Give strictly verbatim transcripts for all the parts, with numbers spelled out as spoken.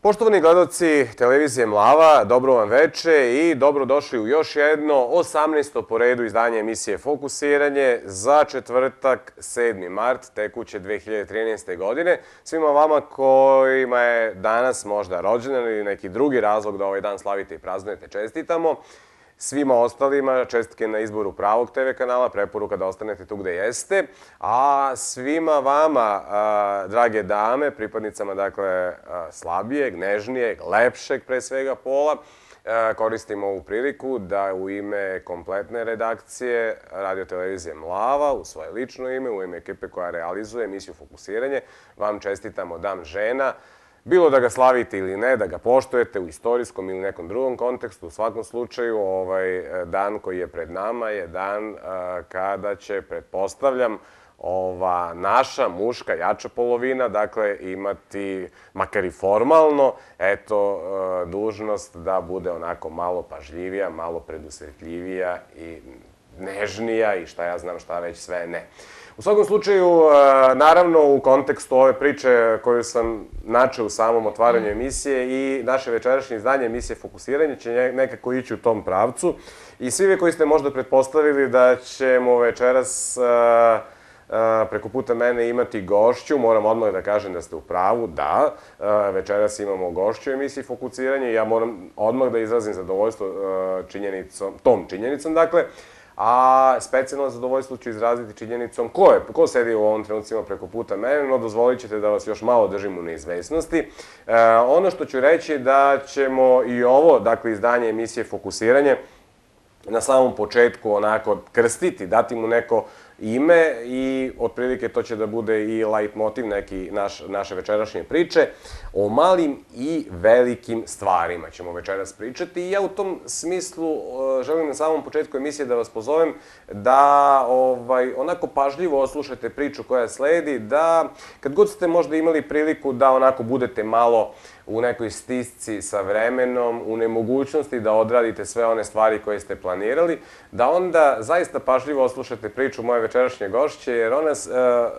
Poštovani gledalci televizije Mlava, dobro vam veče i dobrodošli u još jedno osamnaesto po redu izdanje emisije Fokusiranje za četvrtak, sedmi mart tekuće dve hiljade trinaeste. godine. Svima vama kojima je danas možda rođendan ili neki drugi razlog da ovaj dan slavite i praznujete, čestitamo. Svima ostalima čestitke na izboru pravog te ve kanala, preporuka da ostanete tu gde jeste. A svima vama, drage dame, pripadnicama dakle slabijeg, nežnijeg, lepšeg pre svega pola, koristimo ovu priliku da u ime kompletne redakcije Radio televizije Mlava, u svoje lično ime, u ime ekipe koja realizuje emisiju Fokusiranje, vam čestitamo Dan žena. Bilo da ga slavite ili ne, da ga poštujete u istorijskom ili nekom drugom kontekstu, u svakom slučaju ovaj dan koji je pred nama je dan kada će, pretpostavljam, ova naša muška jača polovina, dakle, imati, makar i formalno, eto, dužnost da bude onako malo pažljivija, malo predusretljivija i nežnija i šta ja znam šta već sve ne. U svakom slučaju, naravno, u kontekstu ove priče koju sam načeo u samom otvaranju emisije i naše večerašnje izdanje emisije Fokusiranje će nekako ići u tom pravcu. I svi vi koji ste možda pretpostavili da ćemo večeras preko puta mene imati gošću, moram odmah da kažem da ste u pravu, da, večeras imamo gošću u emisiji Fokusiranje i ja moram odmah da izrazim zadovoljstvo činjenicom, tom činjenicom, dakle, a specijalno zadovoljstvo ću izraziti činjenicom ko je, ko sedi u ovom trenucima preko puta mene, no dozvolit ćete da vas još malo držim u neizvesnosti. Ono što ću reći da ćemo i ovo, dakle, izdanje emisije Fokusiranje, na samom početku onako krstiti, dati mu neko ime i otprilike to će da bude i leitmotiv neki naše večerašnje priče. O malim i velikim stvarima ćemo večeras pričati i ja u tom smislu želim na samom početku emisije da vas pozovem da onako pažljivo oslušate priču koja sledi, da kad god ste možda imali priliku da onako budete malo u nekoj stisci sa vremenom, u nemogućnosti da odradite sve one stvari koje ste planirali, da onda zaista pažljivo oslušate priču moje večerašnje gošće, jer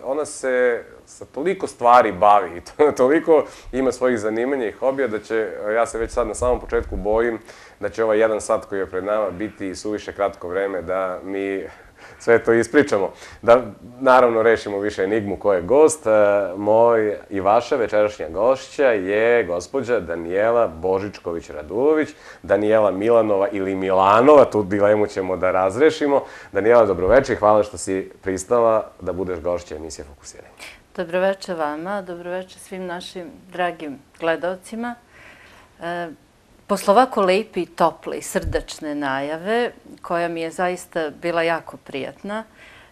ona se sa toliko stvari bavi i toliko ima svojih zanimanja i hobija da će, ja se već sad na samom početku bojim, da će ovaj jedan sat koji je pred nama biti suviše kratko vreme da mi sve to ispričamo. Da, naravno, rešimo više enigmu ko je gost. Moj i vaša večerašnja gošća je gospođa Danijela Božičković-Radulović, Danijela Milanova ili Milanova, tu dilemu ćemo da razrešimo. Danijela, dobroveče i hvala što si pristala da budeš gošća emisije Fokusiranje. Dobroveče vama, dobroveče svim našim dragim gledalcima. Posle ovako lepi i tople i srdačne najave, koja mi je zaista bila jako prijatna,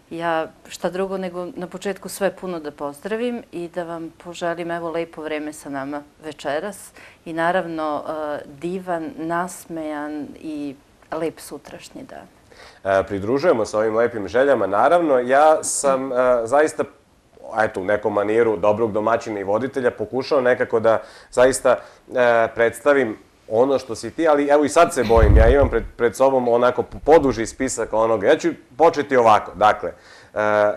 ja šta drugo nego na početku sve puno da pozdravim i da vam poželim evo lepo vreme sa nama večeras i naravno divan, nasmejan i lep sutrašnji dan. Pridružujemo se ovim lepim željama, naravno. Ja sam zaista, eto, u nekom maniru dobrog domaćina i voditelja pokušao nekako da zaista predstavim ono što si ti, ali evo i sad se bojim, ja imam pred sobom onako poduži spisak onoga. Ja ću početi ovako, dakle,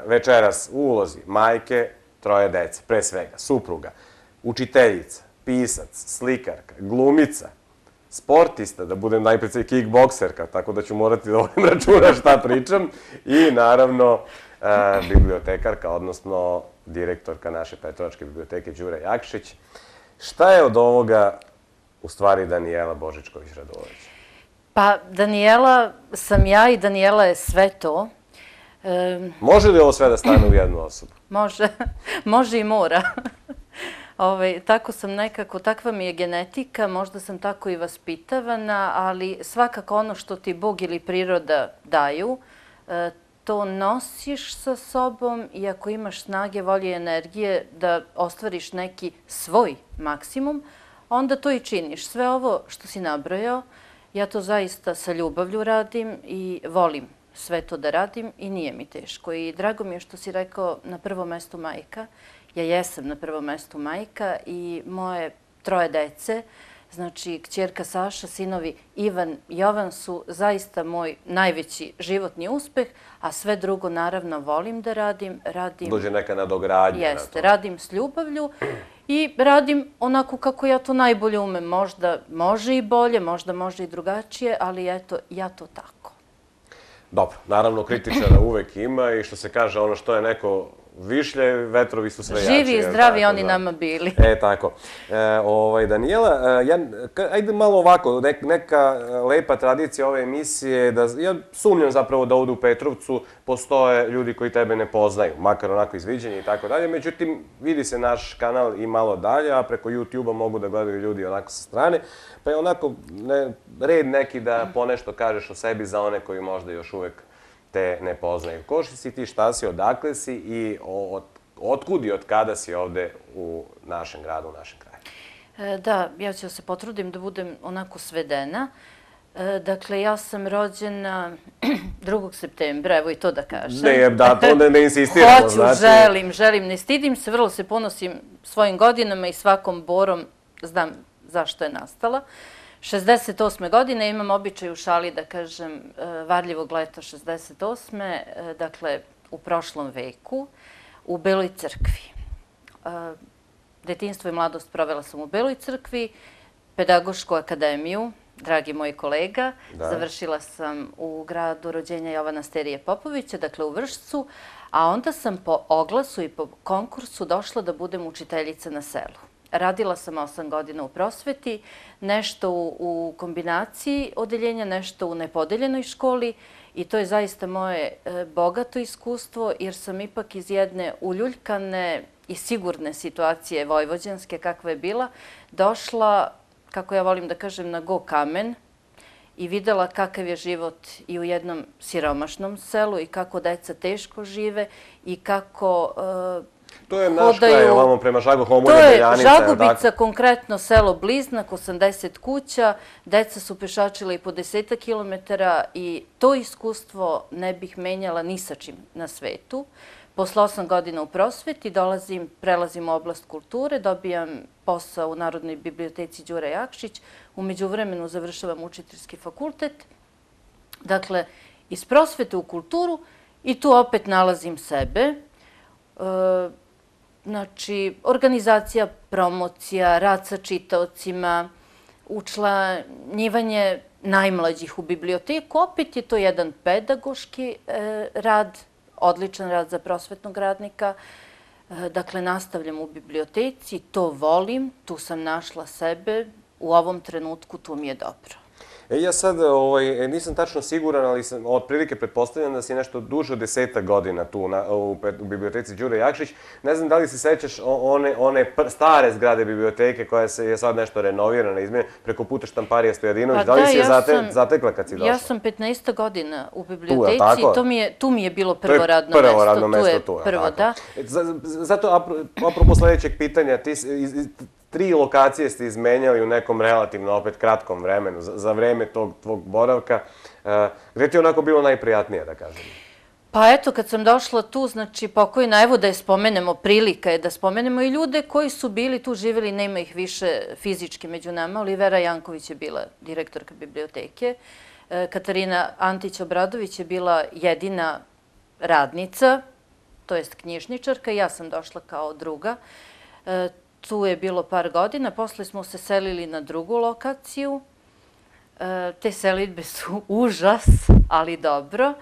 večeras u ulozi majke, troje dece, pre svega, supruga, učiteljica, pisac, slikarka, glumica, sportista, da budem najpred kickbokserka, tako da ću morati da vodim računa šta pričam, i naravno bibliotekarka, odnosno direktorka naše Petrovačke biblioteke Đure Jakšić. Šta je od ovoga u stvari Danijela Božičković-Radulović? Pa, Danijela sam ja i Danijela je sve to. Može li ovo sve da stane u jednu osobu? Može. Može i mora. Tako sam nekako, takva mi je genetika, možda sam tako i vaspitavana, ali svakako ono što ti Bog ili priroda daju, to nosiš sa sobom i ako imaš snage, volje i energije da ostvariš neki svoj maksimum, onda to i činiš. Sve ovo što si nabrojao, ja to zaista sa ljubavlju radim i volim sve to da radim i nije mi teško. I drago mi je što si rekao na prvom mestu majka. Ja jesam na prvom mestu majka i moje troje dece Znači, kćerka Saša, sinovi Ivan i Jovan su zaista moj najveći životni uspeh, a sve drugo naravno volim da radim. radim Dođe neka nadogradnja na to. Jeste, radim s ljubavlju i radim onako kako ja to najbolje umem. Možda može i bolje, možda može i drugačije, ali eto, ja to tako. Dobro, naravno kritičara uvek ima i što se kaže, ono što je neko višlje, vetrovi su sve jači. Živi i zdravi oni nama bili. E, tako. Danijela, ajde malo ovako, neka lepa tradicija ove emisije, ja sumnjam zapravo da ovdje u Petrovcu postoje ljudi koji tebe ne poznaju, makar onako izviđenje i tako dalje, međutim, vidi se naš kanal i malo dalje, a preko YouTube-a mogu da gledaju ljudi onako sa strane, pa je onako red neki da ponešto kažeš o sebi za one koji možda još uvek te ne poznaju. Ko si ti, šta si, odakle si i otkud i od kada si ovde u našem gradu, u našem kraju? Da, ja ću se potrudim da budem onako svedena. Dakle, ja sam rođena drugog septembra, evo i to da kažem. Ne, da, to ne insistiramo. Hoću, želim, želim, ne stidim se, vrlo se ponosim svojim godinama i svakom borom znam zašto je nastala. šezdeset osme godine imam običaj u šali da kažem varljivog leta šezdeset osme, dakle u prošlom veku, u Beloj crkvi. Detinjstvo i mladost provela sam u Beloj crkvi, pedagošku akademiju, dragi moj kolega, završila sam u gradu rođenja Jovana Sterije Popovića, dakle u Vršcu, a onda sam po oglasu i po konkursu došla da budem učiteljica na selu. Radila sam osam godina u prosveti, nešto u kombinaciji odeljenja, nešto u nepodeljenoj školi i to je zaista moje bogato iskustvo jer sam ipak iz jedne uljuljkane i sigurne situacije vojvođanske kakva je bila, došla, kako ja volim da kažem, na go kamen i videla kakav je život i u jednom siromašnom selu i kako deca teško žive i kako to je naš kraj, ovamo prema Žaguhomu, Beljanica. To je Žagubica, konkretno selo Bliznak, osamdeset kuća, deca su pešačila i po deseta kilometara i to iskustvo ne bih menjala ni sa čim na svetu. Posle osam godina u prosveti dolazim, prelazim u oblast kulture, dobijam posao u Narodnoj biblioteci Đure Jakšić, umeđu vremenu završavam učiteljski fakultet. Dakle, iz prosvete u kulturu i tu opet nalazim sebe. Znači, organizacija, promocija, rad sa čitaocima, učlanjivanje najmlađih u biblioteku. Opet je to jedan pedagoški rad, odličan rad za prosvetnog radnika. Dakle, nastavljam u biblioteci, to volim, tu sam našla sebe, u ovom trenutku tu mi je dobro. Ja sad nisam tačno siguran, ali sam otprilike pretpostavljam da si nešto duže od deseta godina tu u biblioteci Đure Jakšić. Ne znam da li se sećaš one stare zgrade biblioteke koja je sad nešto renovirana, izmenjena, preko puta Štamparija Stojadinović. Da li si je zatekla kad si došla? Ja sam petnaesta godina u biblioteci i tu mi je bilo prvo radno mesto. Prvo radno mesto tu, prvo, da. Zato, apropo sledećeg pitanja, ti tri lokacije ste izmenjali u nekom relativno opet kratkom vremenu, za vreme tog tvog boravka. Gde ti je onako bilo najprijatnije, da kažem? Pa eto, kad sam došla tu, znači pokojna, evo da je spomenemo, prilika je da spomenemo i ljude koji su bili tu, živjeli, nema ih više fizički među nama. Olivera Janković je bila direktorka biblioteke, Katarina Antić-Obradović je bila jedina radnica, to jest knjižničarka, ja sam došla kao druga. Tu je bilo par godina, posle smo se selili na drugu lokaciju. Te selitbe su užas, ali dobro.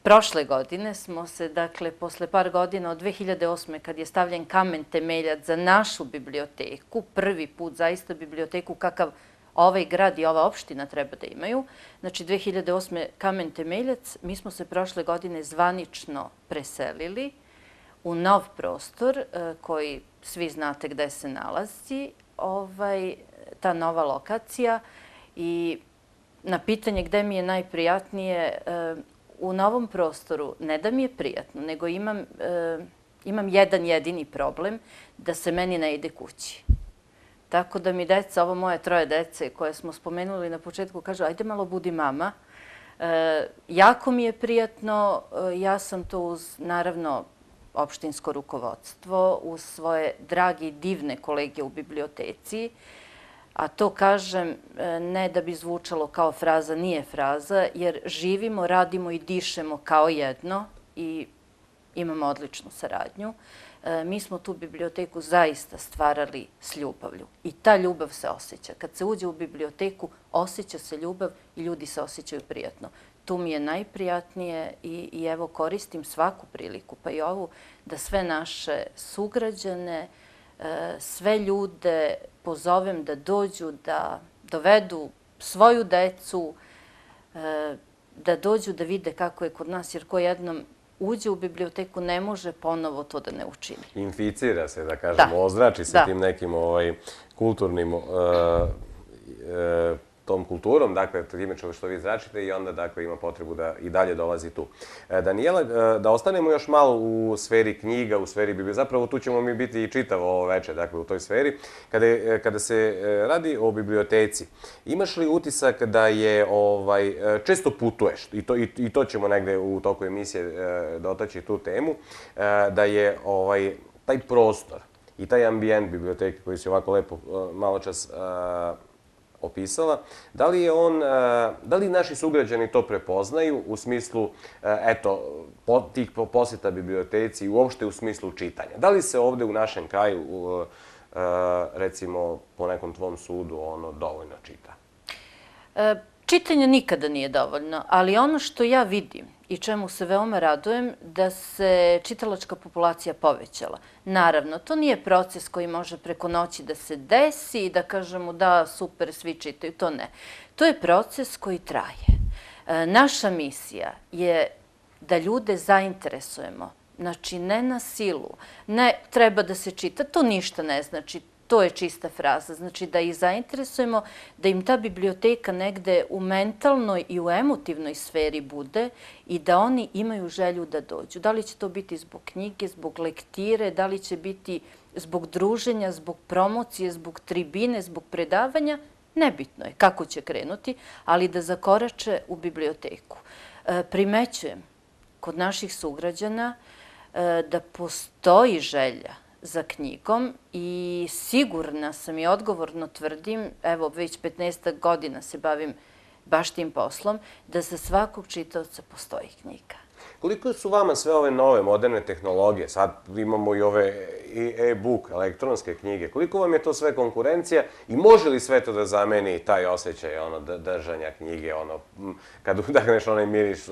Prošle godine smo se, dakle, posle par godina od dve hiljade osme kad je stavljen kamen temeljac za našu biblioteku, prvi put zaista biblioteku kakav ovaj grad i ova opština treba da imaju, znači dve hiljade osme kamen temeljac, mi smo se prošle godine zvanično preselili u nov prostor koji svi znate gde se nalazi, ta nova lokacija. I na pitanje gde mi je najprijatnije, u novom prostoru ne da mi je prijatno, nego imam jedan jedini problem, da se meni ne ide kući. Tako da mi deca, ovo moje troje dece koje smo spomenuli na početku, kažu ajde malo budi mama. Jako mi je prijatno, ja sam to uz, naravno, opštinsko rukovodstvo, uz svoje dragi, divne kolege u biblioteci. A to kažem ne da bi zvučalo kao fraza, nije fraza, jer živimo, radimo i dišemo kao jedno i imamo odličnu saradnju. Mi smo tu biblioteku zaista stvarali s ljubavlju i ta ljubav se osjeća. Kad se uđe u biblioteku, osjeća se ljubav i ljudi se osjećaju prijatno. Tu mi je najprijatnije i, i evo koristim svaku priliku, pa i ovu, da sve naše sugrađane, sve ljude pozovem da dođu, da dovedu svoju decu, da dođu da vide kako je kod nas, jer ko jednom uđe u biblioteku ne može ponovo to da ne učini. Inficira se, da kažemo, ozrači se tim nekim kulturnim, tom kulturom, dakle, time što vi zračite i onda, dakle, ima potrebu da i dalje dolazi tu. Danijela, da ostanemo još malo u sferi knjiga, u sferi biblioteke, zapravo tu ćemo mi biti i čitavo ovo večer, dakle, u toj sferi. Kada se radi o biblioteci, imaš li utisak da je, često putuješ, i to ćemo negde u toku emisije dotaći tu temu, da je taj prostor i taj ambijent biblioteke koji si ovako lepo malo čas opisala, da li je on, da li naši sugrađani to prepoznaju u smislu, eto, tih posjeta biblioteci i uopšte u smislu čitanja? Da li se ovde u našem kraju, recimo, po nekom tvom sudu, ono dovoljno čita? Čitanje nikada nije dovoljno, ali ono što ja vidim i čemu se veoma radujem, da se čitalačka populacija povećala. Naravno, to nije proces koji može preko noći da se desi i da kažemo da, super, svi čitaju, to ne. To je proces koji traje. Naša misija je da ljude zainteresujemo, znači ne na silu, ne treba da se čita, to ništa ne znači. To je čista fraza. Znači da ih zainteresujemo, da im ta biblioteka negde u mentalnoj i u emotivnoj sferi bude i da oni imaju želju da dođu. Da li će to biti zbog knjige, zbog lektire, da li će biti zbog druženja, zbog promocije, zbog tribine, zbog predavanja, nebitno je kako će krenuti, ali da zakorače u biblioteku. Primećujem kod naših sugrađana da postoji želja za knjigom i sigurna sam i odgovorno tvrdim, evo već petnaestak godina se bavim baš tim poslom, da za svakog čitaoca postoji knjiga. Koliko su vama sve ove nove, moderne tehnologije, sad imamo i ove e-book, elektronske knjige, koliko vam je to sve konkurencija i može li sve to da zameni taj osjećaj držanja knjige, kad udahneš onaj miris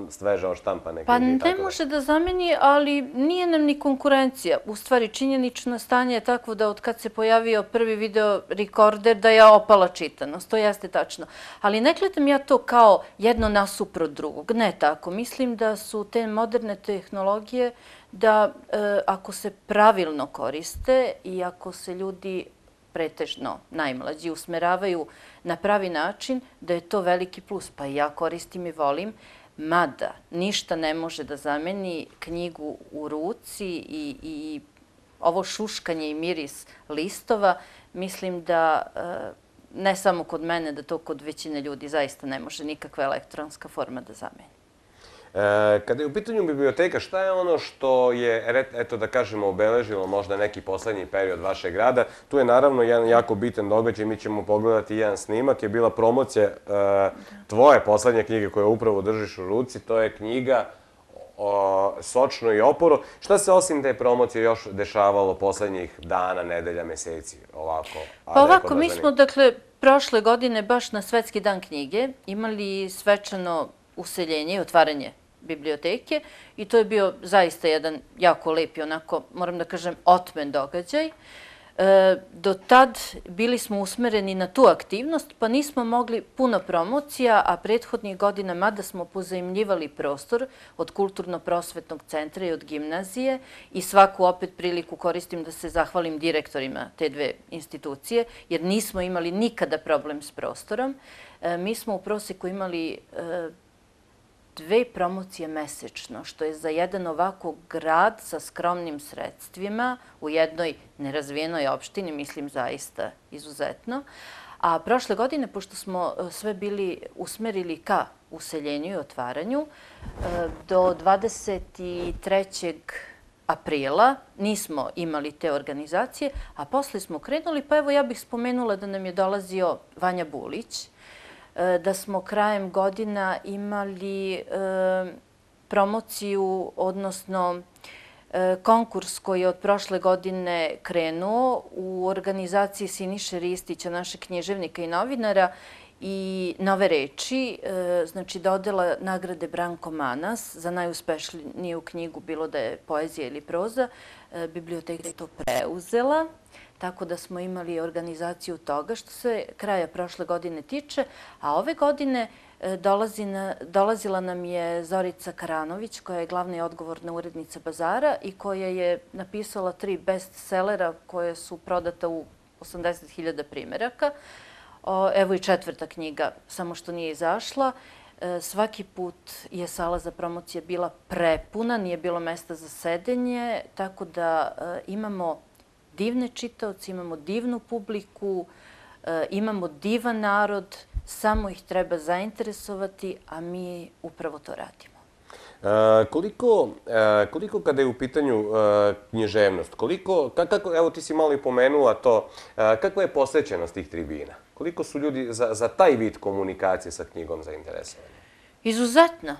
sveže oštampane knjige? Pa ne može da zameni, ali nije nam ni konkurencija. U stvari, činjenično stanje je takvo da od kad se pojavio prvi video rekorder da je opala čitanost, to jeste tačno. Ali ne gledam ja to kao jedno nasuprot drugog, ne tako. Mislim da su te moderne tehnologije da ako se pravilno koriste i ako se ljudi pretežno najmlađi usmeravaju na pravi način, da je to veliki plus. Pa i ja koristim i volim, mada ništa ne može da zameni knjigu u ruci i ovo šuškanje i miris listova. Mislim da ne samo kod mene, da to kod većine ljudi zaista ne može nikakva elektronska forma da zameni. Kada je u pitanju biblioteka, šta je ono što je, eto da kažemo, obeležilo možda neki poslednji period vašeg rada? Tu je naravno jedan jako bitan događaj, mi ćemo pogledati jedan snimak, je bila promocija tvoje poslednje knjige koje upravo držiš u ruci, to je knjiga Sočno i oporo. Šta se osim te promocije još dešavalo poslednjih dana, nedelja, meseci? Pa ovako, mi smo, dakle, prošle godine baš na Svetski dan knjige imali svečano useljenje i otvaranje biblioteke i to je bio zaista jedan jako lep i onako, moram da kažem, otmen događaj. Do tad bili smo usmereni na tu aktivnost, pa nismo mogli puno promocija, a prethodnih godina, mada smo pozajmljivali prostor od Kulturno-prosvetnog centra i od gimnazije i svaku opet priliku koristim da se zahvalim direktorima te dve institucije, jer nismo imali nikada problem s prostorom. Mi smo u proseku imali dve promocije mesečno, što je za jedan ovako grad sa skromnim sredstvima u jednoj nerazvijenoj opštini, mislim zaista izuzetno. A prošle godine, pošto smo sve bili usmerili ka useljenju i otvaranju, do dvadeset trećeg aprila, nismo imali te organizacije, a posle smo krenuli, pa evo ja bih spomenula da nam je dolazio Vanja Bulić, da smo krajem godina imali promociju, odnosno konkurs koji je od prošle godine krenuo u organizaciji Siniše Ristića, našeg književnika i novinara, i Nove reči, znači dodela nagrade Branko Manas za najuspešniju knjigu, bilo da je poezija ili proza. Biblioteka je to preuzela, tako da smo imali organizaciju toga što se kraja prošle godine tiče, a ove godine dolazila nam je Zorica Karanović, koja je glavna i odgovorna urednica Bazara i koja je napisala tri bestsellera koje su prodata u osamdeset hiljada primeraka. Evo i četvrta knjiga, samo što nije izašla. Svaki put je sala za promocije bila prepuna, nije bilo mesta za sedenje, tako da imamo divne čitaoce, imamo divnu publiku, imamo divan narod, samo ih treba zainteresovati, a mi upravo to radimo. Koliko kada je u pitanju književnost, koliko, evo ti si malo i pomenula to, kakva je posvećenost tih tribina? Koliko su ljudi za taj vid komunikacije sa knjigom zainteresovani? Izuzetno.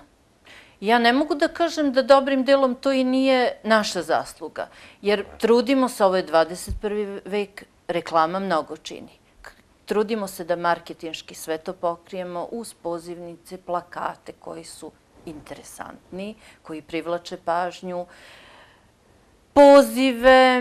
Ja ne mogu da kažem da dobrim delom to i nije naša zasluga, jer trudimo se, ovo je dvadeset prvi vek, reklama mnogo čini. Trudimo se da marketinški sve to pokrijemo uz pozivnice, plakate koji su interesantni, koji privlače pažnju, pozive,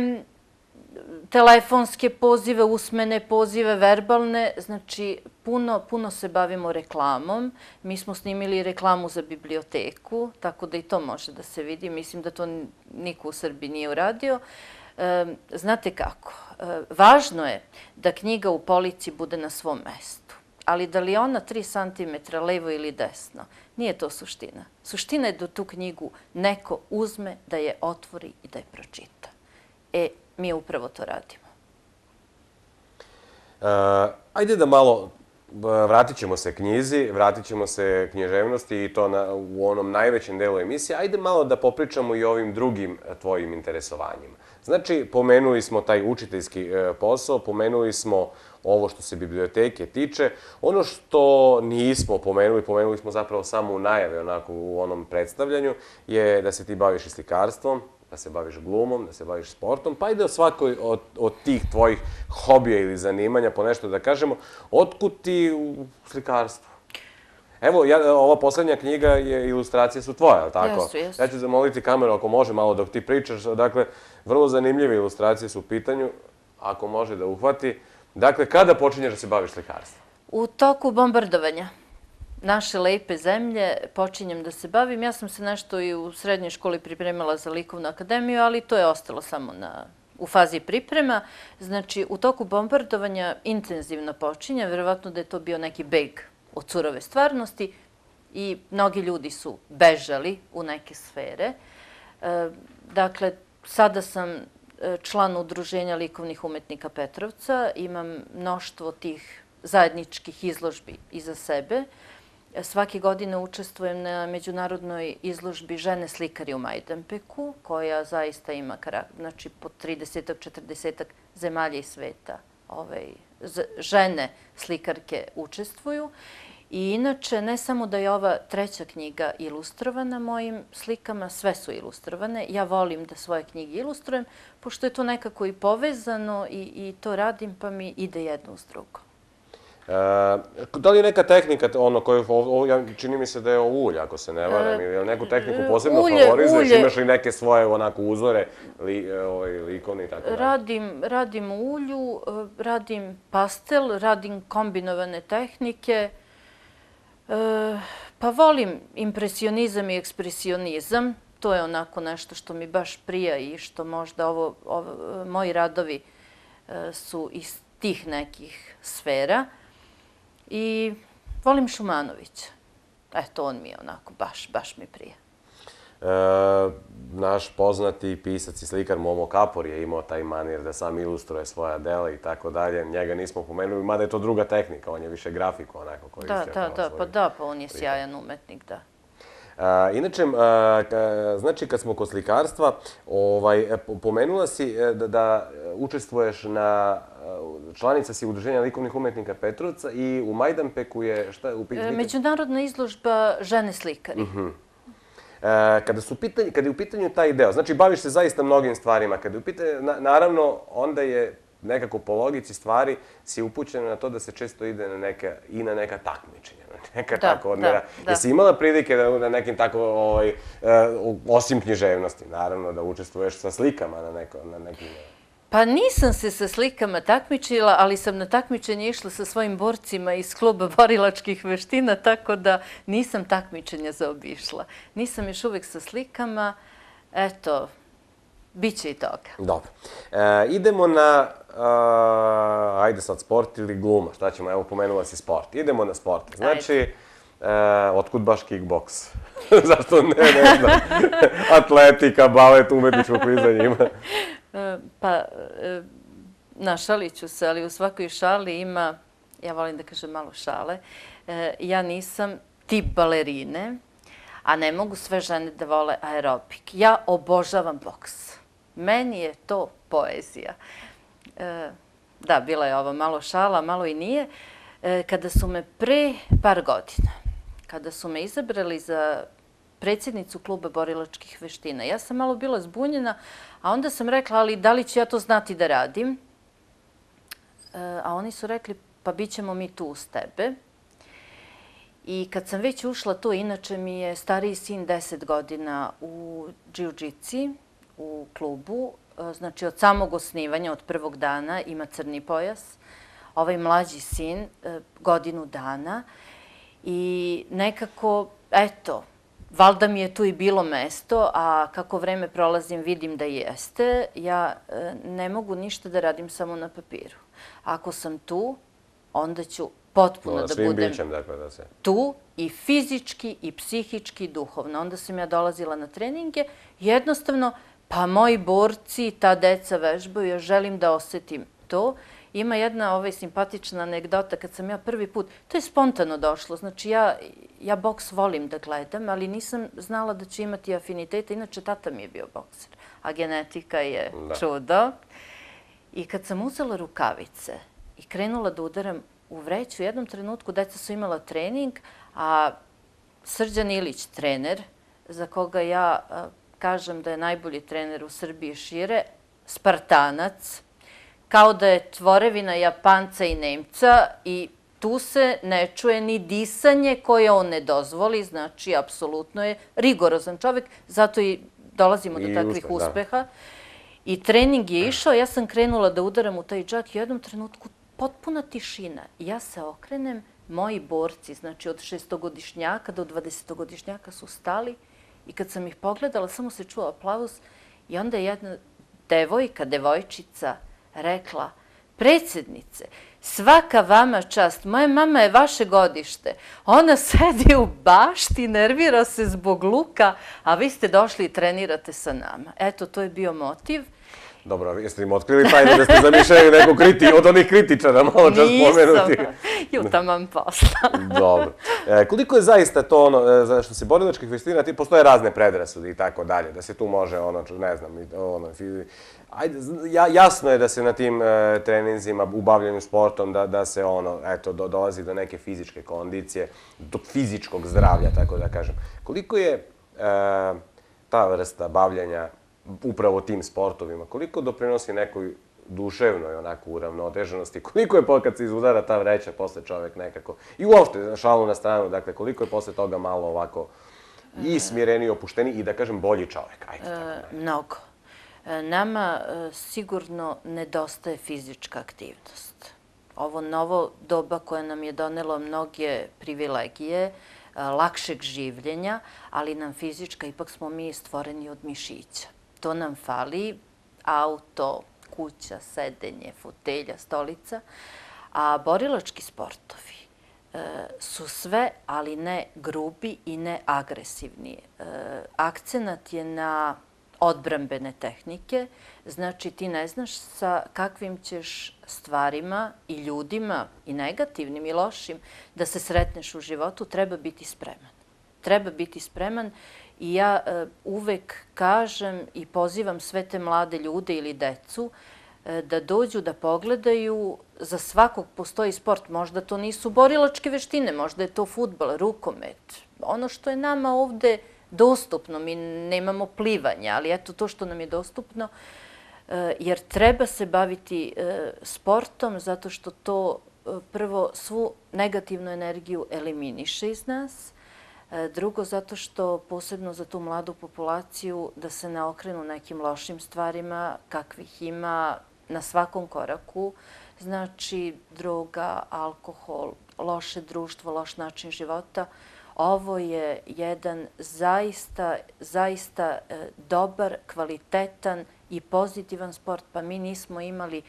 telefonske pozive, usmene pozive, verbalne, znači puno, puno se bavimo reklamom. Mi smo snimili reklamu za biblioteku, tako da i to može da se vidi. Mislim da to niko u Srbiji nije uradio. Znate kako, važno je da knjiga u polici bude na svom mestu, ali da li je ona tri centimetra levo ili desno, nije to suština. Suština je da tu knjigu neko uzme, da je otvori i da je pročita. E, mi upravo to radimo. Ajde da malo, vratit ćemo se knjizi, vratit ćemo se književnosti i to u onom najvećem delu emisije. Ajde malo da popričamo i o ovim drugim tvojim interesovanjima. Znači, pomenuli smo taj učiteljski posao, pomenuli smo ovo što se biblioteke tiče. Ono što nismo pomenuli, pomenuli smo zapravo samo u najavi, onako u onom predstavljanju, je da se ti baviš i slikarstvom, da se baviš glumom, da se baviš sportom, pa ide o svakoj od tih tvojih hobija ili zanimanja, po nešto da kažemo, otkud ti u slikarstvu? Evo, ova poslednja knjiga, ilustracije su tvoje, ali tako? Jesu, jesu. Ja ću zamoliti kameru, ako može, malo dok ti pričaš. Dakle, vrlo zanimljive ilustracije su u pitanju, ako može da uhvati. Dakle, kada počinješ da se baviš slikarstvom? U toku bombardovanja naše lepe zemlje počinjem da se bavim. Ja sam se nešto i u srednjoj školi pripremala za likovnu akademiju, ali to je ostalo samo u fazi priprema. Znači, u toku bombardovanja intenzivno počinjem, verovatno da je to bio neki beg od surove stvarnosti i mnogi ljudi su bežali u neke sfere. Dakle, sada sam član Udruženja likovnih umetnika Petrovca, imam mnoštvo tih zajedničkih izložbi iza sebe. Svake godine učestvujem na međunarodnoj izložbi Žene slikari u Majdanpeku, koja zaista ima znači po tridesetak, četrdesetak zemalja i sveta. Žene slikarke učestvuju. I inače, ne samo da je ova treća knjiga ilustrovana mojim slikama, sve su ilustrovane. Ja volim da svoje knjige ilustrujem, pošto je to nekako i povezano i to radim, pa mi ide jedno uz drugo. Da li je neka tehnika, ono koju, čini mi se da je ovo ulje, ako se ne varam, ili neku tehniku posebno favorizuješ, imaš li neke svoje onako uzore, likovne i tako dalje? Radim u ulju, radim pastel, radim kombinovane tehnike, pa volim impresionizam i ekspresionizam, to je onako nešto što mi baš prija i što možda ovo, moji radovi su iz tih nekih sfera. I volim Šumanovića. Eto, on mi je onako, baš, baš mi prija. Naš poznati pisac i slikar Momo Kapor je imao taj manir da sam ilustruje svoja dela i tako dalje. Njega nismo pomenuli, mada je to druga tehnika, on je više grafiku onako koristio. Da, da, da, pa da, pa on je sjajan umetnik, da. Inače, znači kad smo kod slikarstva, pomenula si da učestvuješ na, članica si Udruženja likovnih umetnika Petrovca i u Majdanpeku je, šta je u pitanju? Međunarodna izložba žene slikari. Kada je u pitanju taj deo, znači baviš se zaista mnogim stvarima, kada je u pitanju, naravno, onda je nekako po logici stvari si upućena na to da se često ide i na neka takmičenja, neka tako odmera. Jesi imala prilike da na nekim tako, osim književnosti, naravno, da učestvuješ sa slikama na nekim... Pa nisam se sa slikama takmičila, ali sam na takmičenje išla sa svojim borcima iz kluba borilačkih veština, tako da nisam takmičenja zaobišla. Nisam još uvek sa slikama, eto, bit će i toga. Dobro. Idemo na, ajde sad, sport ili gluma, šta ćemo, evo pomenula si sport. Idemo na sport. Znači, otkud baš kickboks? Zašto ne, ne znam, atletika, balet, umetničko klizanje ima? Pa, našalit ću se, ali u svakoj šali ima, ja volim da kažem malo šale, ja nisam tip balerine, a ne mogu sve žene da vole aerobik. Ja obožavam boks. Meni je to poezija. Da, bila je ovo malo šala, malo i nije. Kada su me pre par godina, kada su me izabrali za predsjednicu kluba borilačkih veština, ja sam malo bila zbunjena, a onda sam rekla, ali da li ću ja to znati da radim? A oni su rekli, pa bit ćemo mi tu uz tebe. I kad sam već ušla tu, inače mi je stariji sin deset godina u džiu-džici, u klubu, znači od samog osnivanja, od prvog dana, ima crni pojas. Ovaj mlađi sin, godinu dana. I nekako, eto, valjda mi je tu i bilo mesto, a kako vreme prolazim vidim da jeste, ja ne mogu ništa da radim samo na papiru. Ako sam tu, onda ću potpuno da budem tu i fizički i psihički i duhovno. Onda sam ja dolazila na treninge, jednostavno, pa moji borci, ta deca vežbaju, ja želim da osetim to. Ima jedna simpatična anegdota, kad sam ja prvi put, to je spontano došlo, znači ja boks volim da gledam, ali nisam znala da ću imati afiniteta, inače tata mi je bio bokser, a genetika je čudo. I kad sam uzela rukavice i krenula da udaram u vreću, u jednom trenutku deca su imala trening, a Srđan Ilić, trener, za koga ja kažem da je najbolji trener u Srbiji šire, Spartanac, kao da je tvorevina Japanca i Nemca i tu se ne čuje ni disanje koje on ne dozvoli, znači apsolutno je rigorozan čovek, zato i dolazimo do takvih uspeha. I trening je išao, ja sam krenula da udaram u taj džak i u jednom trenutku potpuna tišina. Ja se okrenem, moji borci, znači od šestogodišnjaka do dvadesetogodišnjaka su stali i kad sam ih pogledala, samo se čuo aplauz i onda je jedna devojka, devojčica, rekla, predsjednice, svaka vama čast, moja mama je vaše godište, ona sedi u bašti, nervira se zbog luka, a vi ste došli i trenirate sa nama. Eto, to je bio motiv. Dobro, jeste im otkrili tajne da ste zamišljali neku kritiku, od onih kritičara, malo čas pomenuti? Nisam, jutamam posla. Dobro. Koliko je zaista to ono, što se borilačkih veština, postoje razne predrasude i tako dalje, da se tu može, ono, ne znam, ono, jasno je da se na tim treninzima, u bavljanju sportom, da se, ono, eto, dolazi do neke fizičke kondicije, do fizičkog zdravlja, tako da kažem. Koliko je ta vrsta bavljanja upravo tim sportovima, koliko doprinosi nekoj duševnoj onako uravnoteženosti, koliko je kad se izudara ta vreća posle čovek nekako, i uopšte šalu na stranu, dakle, koliko je posle toga malo ovako i smireni, opušteni i da kažem bolji čovek. Mnogo. Nama sigurno nedostaje fizička aktivnost. Ovo novo doba koje nam je donelo mnoge privilegije, lakšeg življenja, ali nam fizička, ipak smo mi stvoreni od mišića. To nam fali, auto, kuća, sedenje, fotelja, stolica, a borilački sportovi su sve, ali ne grubi i ne agresivni. Akcenat je na odbrambene tehnike, znači ti ne znaš sa kakvim ćeš stvarima i ljudima, i negativnim i lošim, da se sretneš u životu, treba biti spreman. treba biti spreman i ja uvek kažem i pozivam sve te mlade ljude ili decu da dođu da pogledaju, za svakog postoji sport, možda to nisu borilačke veštine, možda je to fudbal, rukomet, ono što je nama ovde dostupno, mi nemamo plivanje, ali eto to što nam je dostupno, jer treba se baviti sportom zato što to prvo svu negativnu energiju eliminiše iz nas, drugo zato što posebno za tu mladu populaciju da se ne okrenu nekim lošim stvarima kakvih ima na svakom koraku, znači droga, alkohol, loše društvo, loš način života. Ovo je jedan zaista, zaista dobar, kvalitetan i pozitivan sport, pa mi nismo imali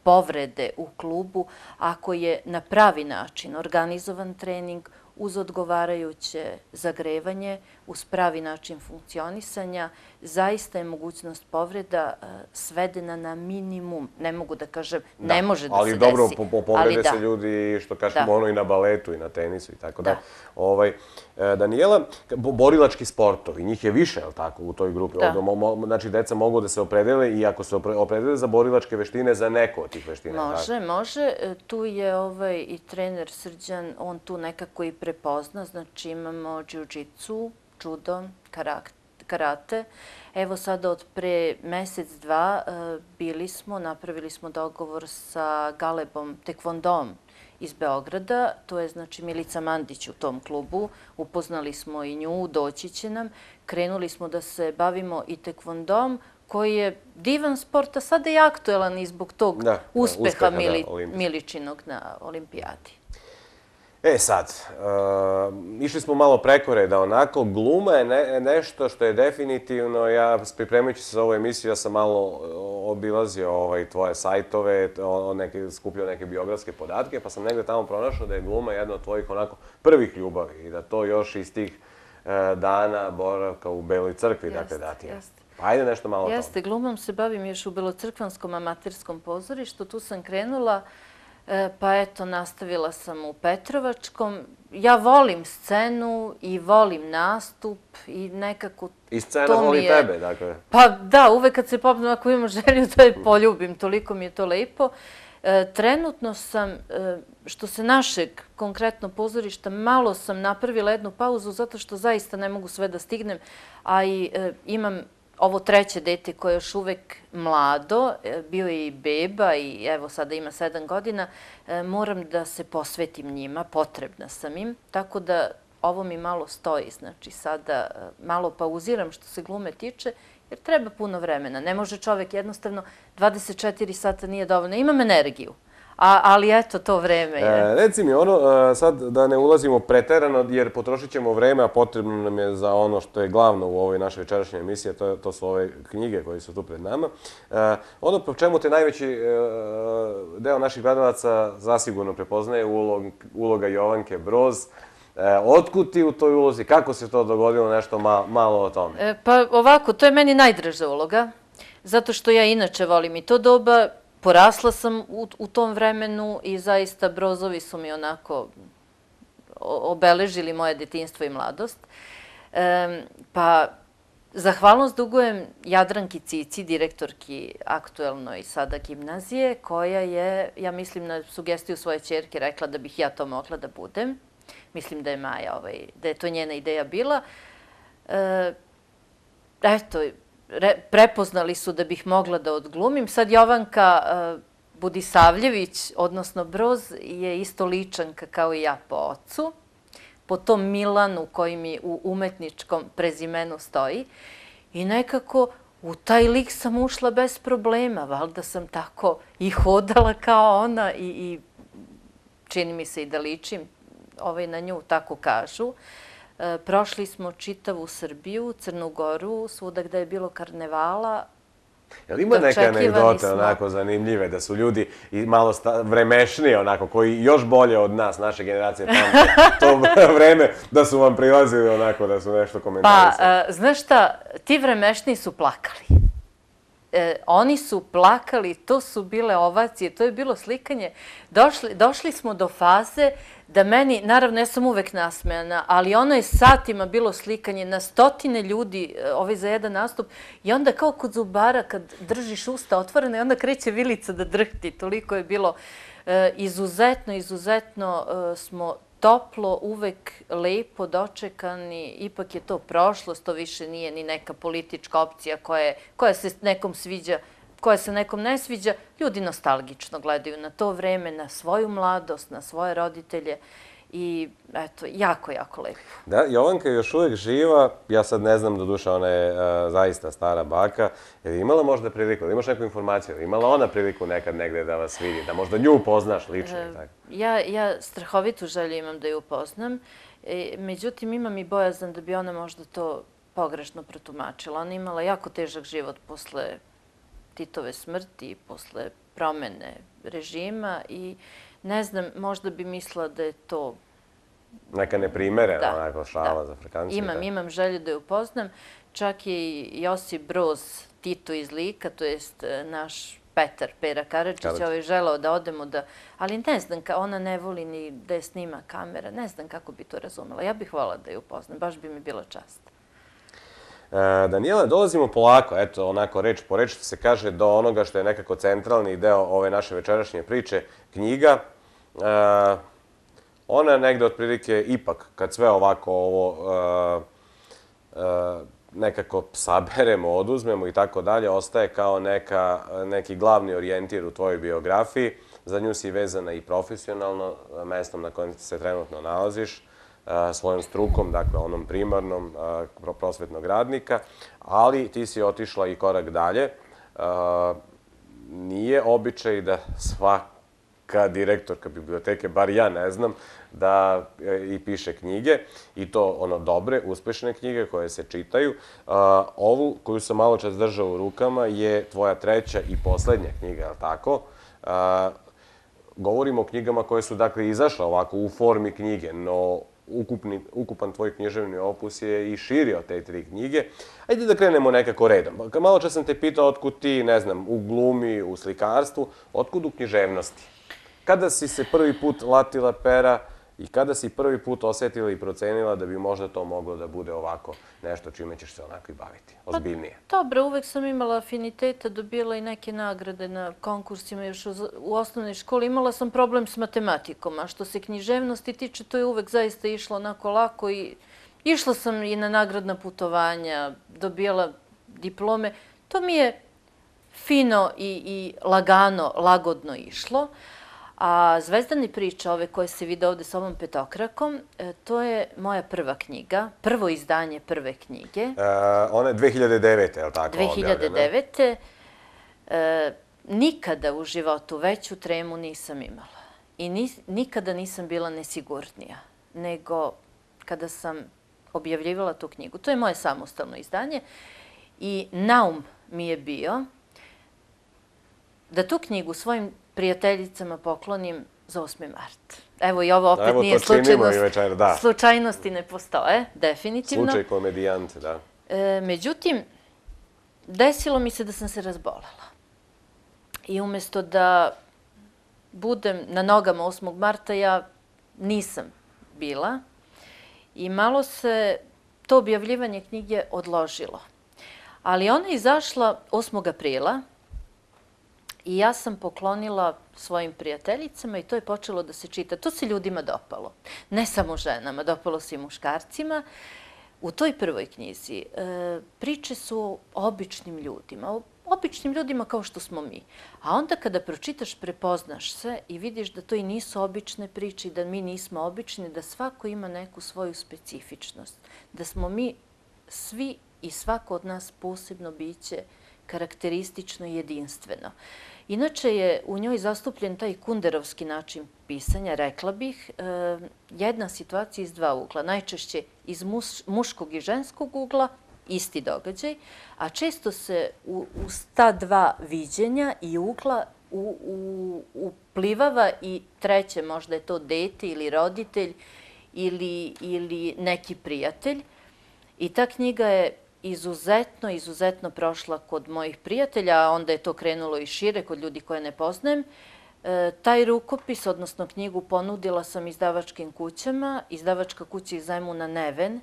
povrede u klubu ako je na pravi način organizovan trening uz odgovarajuće zagrevanje, uz pravi način funkcionisanja, zaista je mogućnost povreda svedena na minimum. Ne mogu da kažem, ne može da se desi. Ali dobro, povrede se ljudi, što kažemo, ono i na baletu i na tenisu i tako da. Danijela, borilački sportovi, njih je više, je li tako, u toj grupi? Znači, deca mogu da se opredele i ako se opredele za borilačke veštine, za neko od tih veština. Može, može. Tu je i trener Srđan, on tu nekako i prepozna. Znači, imamo džiu-džicu, judo, karate. Evo sada od pre mesec, dva bili smo, napravili smo dogovor sa Galebom Tekvondom iz Beograda. To je, znači, Milica Mandić u tom klubu. Upoznali smo i nju, doći će nam. Krenuli smo da se bavimo i tekvondom, koji je divan sport, a sada je aktuelan i zbog tog uspeha Miličinog na olimpijadi. E sad, išli smo malo preko reda, onako, gluma je nešto što je definitivno, ja pripremajući se za ovu emisiju, ja sam malo obilazio tvoje sajtove, skupio neke biografske podatke, pa sam negde tamo pronašao da je gluma jedna od tvojih onako prvih ljubavi i da to još iz tih dana boravka u Beloj crkvi, dakle, da ti je. Pa ajde nešto malo o tome. Jeste, glumom se bavim još u Belocrkvanskom amaterskom pozorištu, tu sam krenula. Pa eto, nastavila sam u Petrovačkom. Ja volim scenu i volim nastup i nekako to mi je... I scena voli tebe, dakle. Pa da, uvek kad se popnem, ako imam želju da je poljubim, toliko mi je to lepo. Trenutno sam, što se našeg konkretno pozorišta, malo sam napravila jednu pauzu zato što zaista ne mogu sve da stignem, a i imam ovo treće dete koje je još uvek mlado, bio je i beba i evo sada ima sedam godina, moram da se posvetim njima, potrebna sam im, tako da ovo mi malo stoji, znači sada malo pauziram što se glume tiče, jer treba puno vremena. Ne može čovek jednostavno, dvadeset četiri sata nije dovoljno, imam energiju. Ali eto, to vreme je. Reci mi, ono, sad da ne ulazimo preterano, jer potrošit ćemo vreme, a potrebno nam je za ono što je glavno u ovoj našoj večerašnjoj emisiji, a to su ove knjige koje su tu pred nama. Ono po čemu te najveći deo naših gledalaca zasigurno prepoznaje uloga Jovanke Broz. Otkud ti u toj ulozi? Kako se to dogodilo? Nešto malo o tome. Pa ovako, to je meni najdraža uloga, zato što ja inače volim i to doba. Porasla sam u tom vremenu i zaista Brozovi su mi onako obeležili moje detinjstvo i mladost. Pa zahvalnost dugujem Jadranki Cici, direktorki aktuelnoj sada gimnazije, koja je, ja mislim, na sugestiju svoje ćerke rekla da bih ja to mogla da budem. Mislim da je Maja, da je to njena ideja bila. Eto, prepoznali su da bih mogla da odglumim. Sad Jovanka Budisavljević, odnosno Broz, je isto ličanka kao i ja po ocu, po tom Milanu koji mi u umetničkom prezimenu stoji. I nekako u taj lik sam ušla bez problema, valjda sam tako i hodala kao ona i čini mi se i da ličim na nju, tako kažu. Prošli smo čitavu Srbiju, Crnu Goru, svuda gde je bilo karnevala. Jel ima neke anegdote onako zanimljive, da su ljudi malo vremešniji onako, koji još bolje od nas, naše generacije pamte to vreme, da su vam prilazili onako, da su nešto komentarisali? Pa, znaš šta, ti vremešniji su plakali. oni su plakali, to su bile ovacije, to je bilo slikanje. Došli smo do faze da meni, naravno ja sam uvek nasmejana, ali ono je satima bilo slikanje na stotine ljudi ovaj za jedan nastup i onda kao kod zubara kad držiš usta otvorene i onda kreće vilica da drhti. Toliko je bilo izuzetno, izuzetno smo toplo, uvek lepo dočekani, ipak je to prošlost, to više nije ni neka politička opcija koja se nekom sviđa, koja se nekom ne sviđa. Ljudi nostalgično gledaju na to vreme, na svoju mladost, na svoje roditelje i eto, jako, jako lepo. Da, Jovanka je još uvijek živa, ja sad ne znam, doduše ona je zaista stara baka. Je li imala možda priliku, da imaš neku informaciju, je li imala ona priliku nekad negde da vas vidi, da možda nju upoznaš lično i tako? Ja strahovitu želju imam da ju upoznam, međutim imam i bojazan da bi ona možda to pogrešno protumačila. Ona je imala jako težak život posle Titove smrti, posle promene režima i ne znam, možda bi mislila da je to... Neka neprimerena, onako šala za Afrikanci. Imam, imam želju da ju upoznam. Čak je i Josip Broz Tito iz Lika, to jest naš Petar, Pera Karadžić, ovaj želao da odemo da... Ali ne znam, ona ne voli ni da je snima kamera, ne znam kako bi to razumela. Ja bih volila da ju upoznam, baš bi mi bila čast. Danijela, dolazimo polako, eto, onako reč po reč se kaže do onoga što je nekako centralni deo ove naše večerašnje priče, knjiga. Ona je negde otprilike ipak, kad sve ovako ovo nekako saberemo, oduzmemo i tako dalje, ostaje kao neki glavni orijentir u tvojoj biografiji. Za nju si vezana i profesionalno, mestom na kojem se trenutno nalaziš, svojom strukom, dakle onom primarnom prosvetnog radnika, ali ti si otišla i korak dalje. Nije običaj da svaka direktorka biblioteke, bar ja ne znam, da i piše knjige, i to ono dobre, uspešne knjige koje se čitaju. Ovu koju sam malo čas držao u rukama je tvoja treća i poslednja knjiga, je li tako? Govorimo o knjigama koje su dakle izašle ovako u formi knjige, no ukupan tvoj književni opus je i širi od te tri knjige. Ajde da krenemo nekako redom. Malo čas sam te pitao otkud ti, ne znam, u glumi, u slikarstvu, otkud u književnosti? Kada si se prvi put latila pera i kada si prvi put osetila i procenila da bi možda to moglo da bude ovako nešto čime ćeš se onako i baviti, ozbiljnije? Dobro, uvek sam imala afiniteta, dobila i neke nagrade na konkursima još u osnovnoj školi. Imala sam problem s matematikom, a što se književnosti tiče, to je uvek zaista išlo onako lako i išla sam i na nagradna putovanja, dobijala diplome. To mi je fino i lagano, lagodno išlo. A Zvezdane priče, ove koje se vide ovde s ovom petokrakom, to je moja prva knjiga, prvo izdanje prve knjige. Ona je dve hiljade devete, je li tako? dve hiljade devete. Nikada u životu veću tremu nisam imala. I nikada nisam bila nesigurnija, nego kada sam objavljivala tu knjigu. To je moje samostalno izdanje i naum mi je bio da tu knjigu svojim prijateljicama poklonim za osmi mart. Evo i ovo opet nije slučajnost. Slučajnosti ne postoje, definitivno. Slučaj komedijante, da. Međutim, desilo mi se da sam se razbolela. I umjesto da budem na nogama osmog marta, ja nisam bila. I malo se to objavljivanje knjige odložilo. Ali ona je izašla osmog aprila, i ja sam poklonila svojim prijateljicama i to je počelo da se čita. To se ljudima dopalo. Ne samo ženama, dopalo se i muškarcima. U toj prvoj knjizi priče su o običnim ljudima, o običnim ljudima kao što smo mi. A onda kada pročitaš, prepoznaš se i vidiš da to i nisu obične priče i da mi nismo obični, da svako ima neku svoju specifičnost. Da smo mi svi i svako od nas posebno biće karakteristično i jedinstveno. Inače je u njoj zastupljen taj kunderovski način pisanja, rekla bih, jedna situacija iz dva ugla, najčešće iz muškog i ženskog ugla, isti događaj, a često se uz ta dva viđenja i ugla uplivava i treće, možda je to dete ili roditelj ili neki prijatelj. I ta knjiga je izuzetno, izuzetno prošla kod mojih prijatelja, a onda je to krenulo i šire kod ljudi koje ne poznajem. Taj rukopis, odnosno knjigu, ponudila sam izdavačkim kućama. Izdavačka kuća iz Zemuna Neven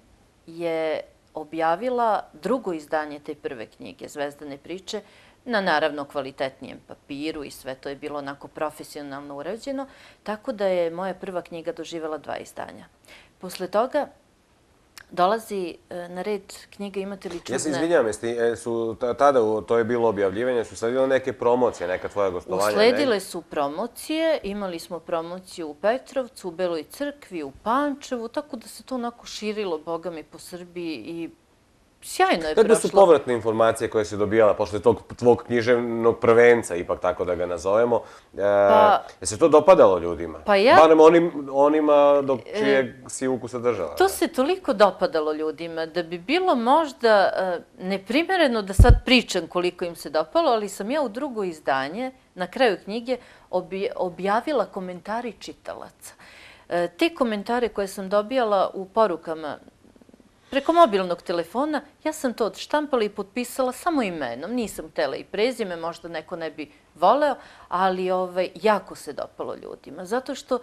je objavila drugo izdanje te prve knjige, Zvezdane priče, na naravno kvalitetnijem papiru i sve to je bilo onako profesionalno urađeno, tako da je moja prva knjiga doživjela dva izdanja. Posle toga dolazi na red knjiga Imate li čudne... Ja se izvinjam, su tada, to je bilo objavljivanje, su sledile neke promocije, neka tvoja gostovanja? Usledile su promocije, imali smo promociju u Petrovcu, u Beloj crkvi, u Pančevu, tako da se to onako širilo, boga mi, po Srbiji i sjajno je prošlo. Kakve su povratne informacije koje si dobijala posle tog tvog književnog prvenca, ipak tako da ga nazovemo? Je se to dopadalo ljudima? Pa ja... Barem onima dok čijeg si ukusa držala. To se toliko dopadalo ljudima da bi bilo možda neprimereno da sad pričam koliko im se dopalo, ali sam ja u drugo izdanje, na kraju knjige, objavila komentari čitalaca. Te komentare koje sam dobijala u porukama preko mobilnog telefona, ja sam to odštampala i potpisala samo imenom. Nisam htela i prezime, možda neko ne bi voleo, ali jako se dopalo ljudima. Zato što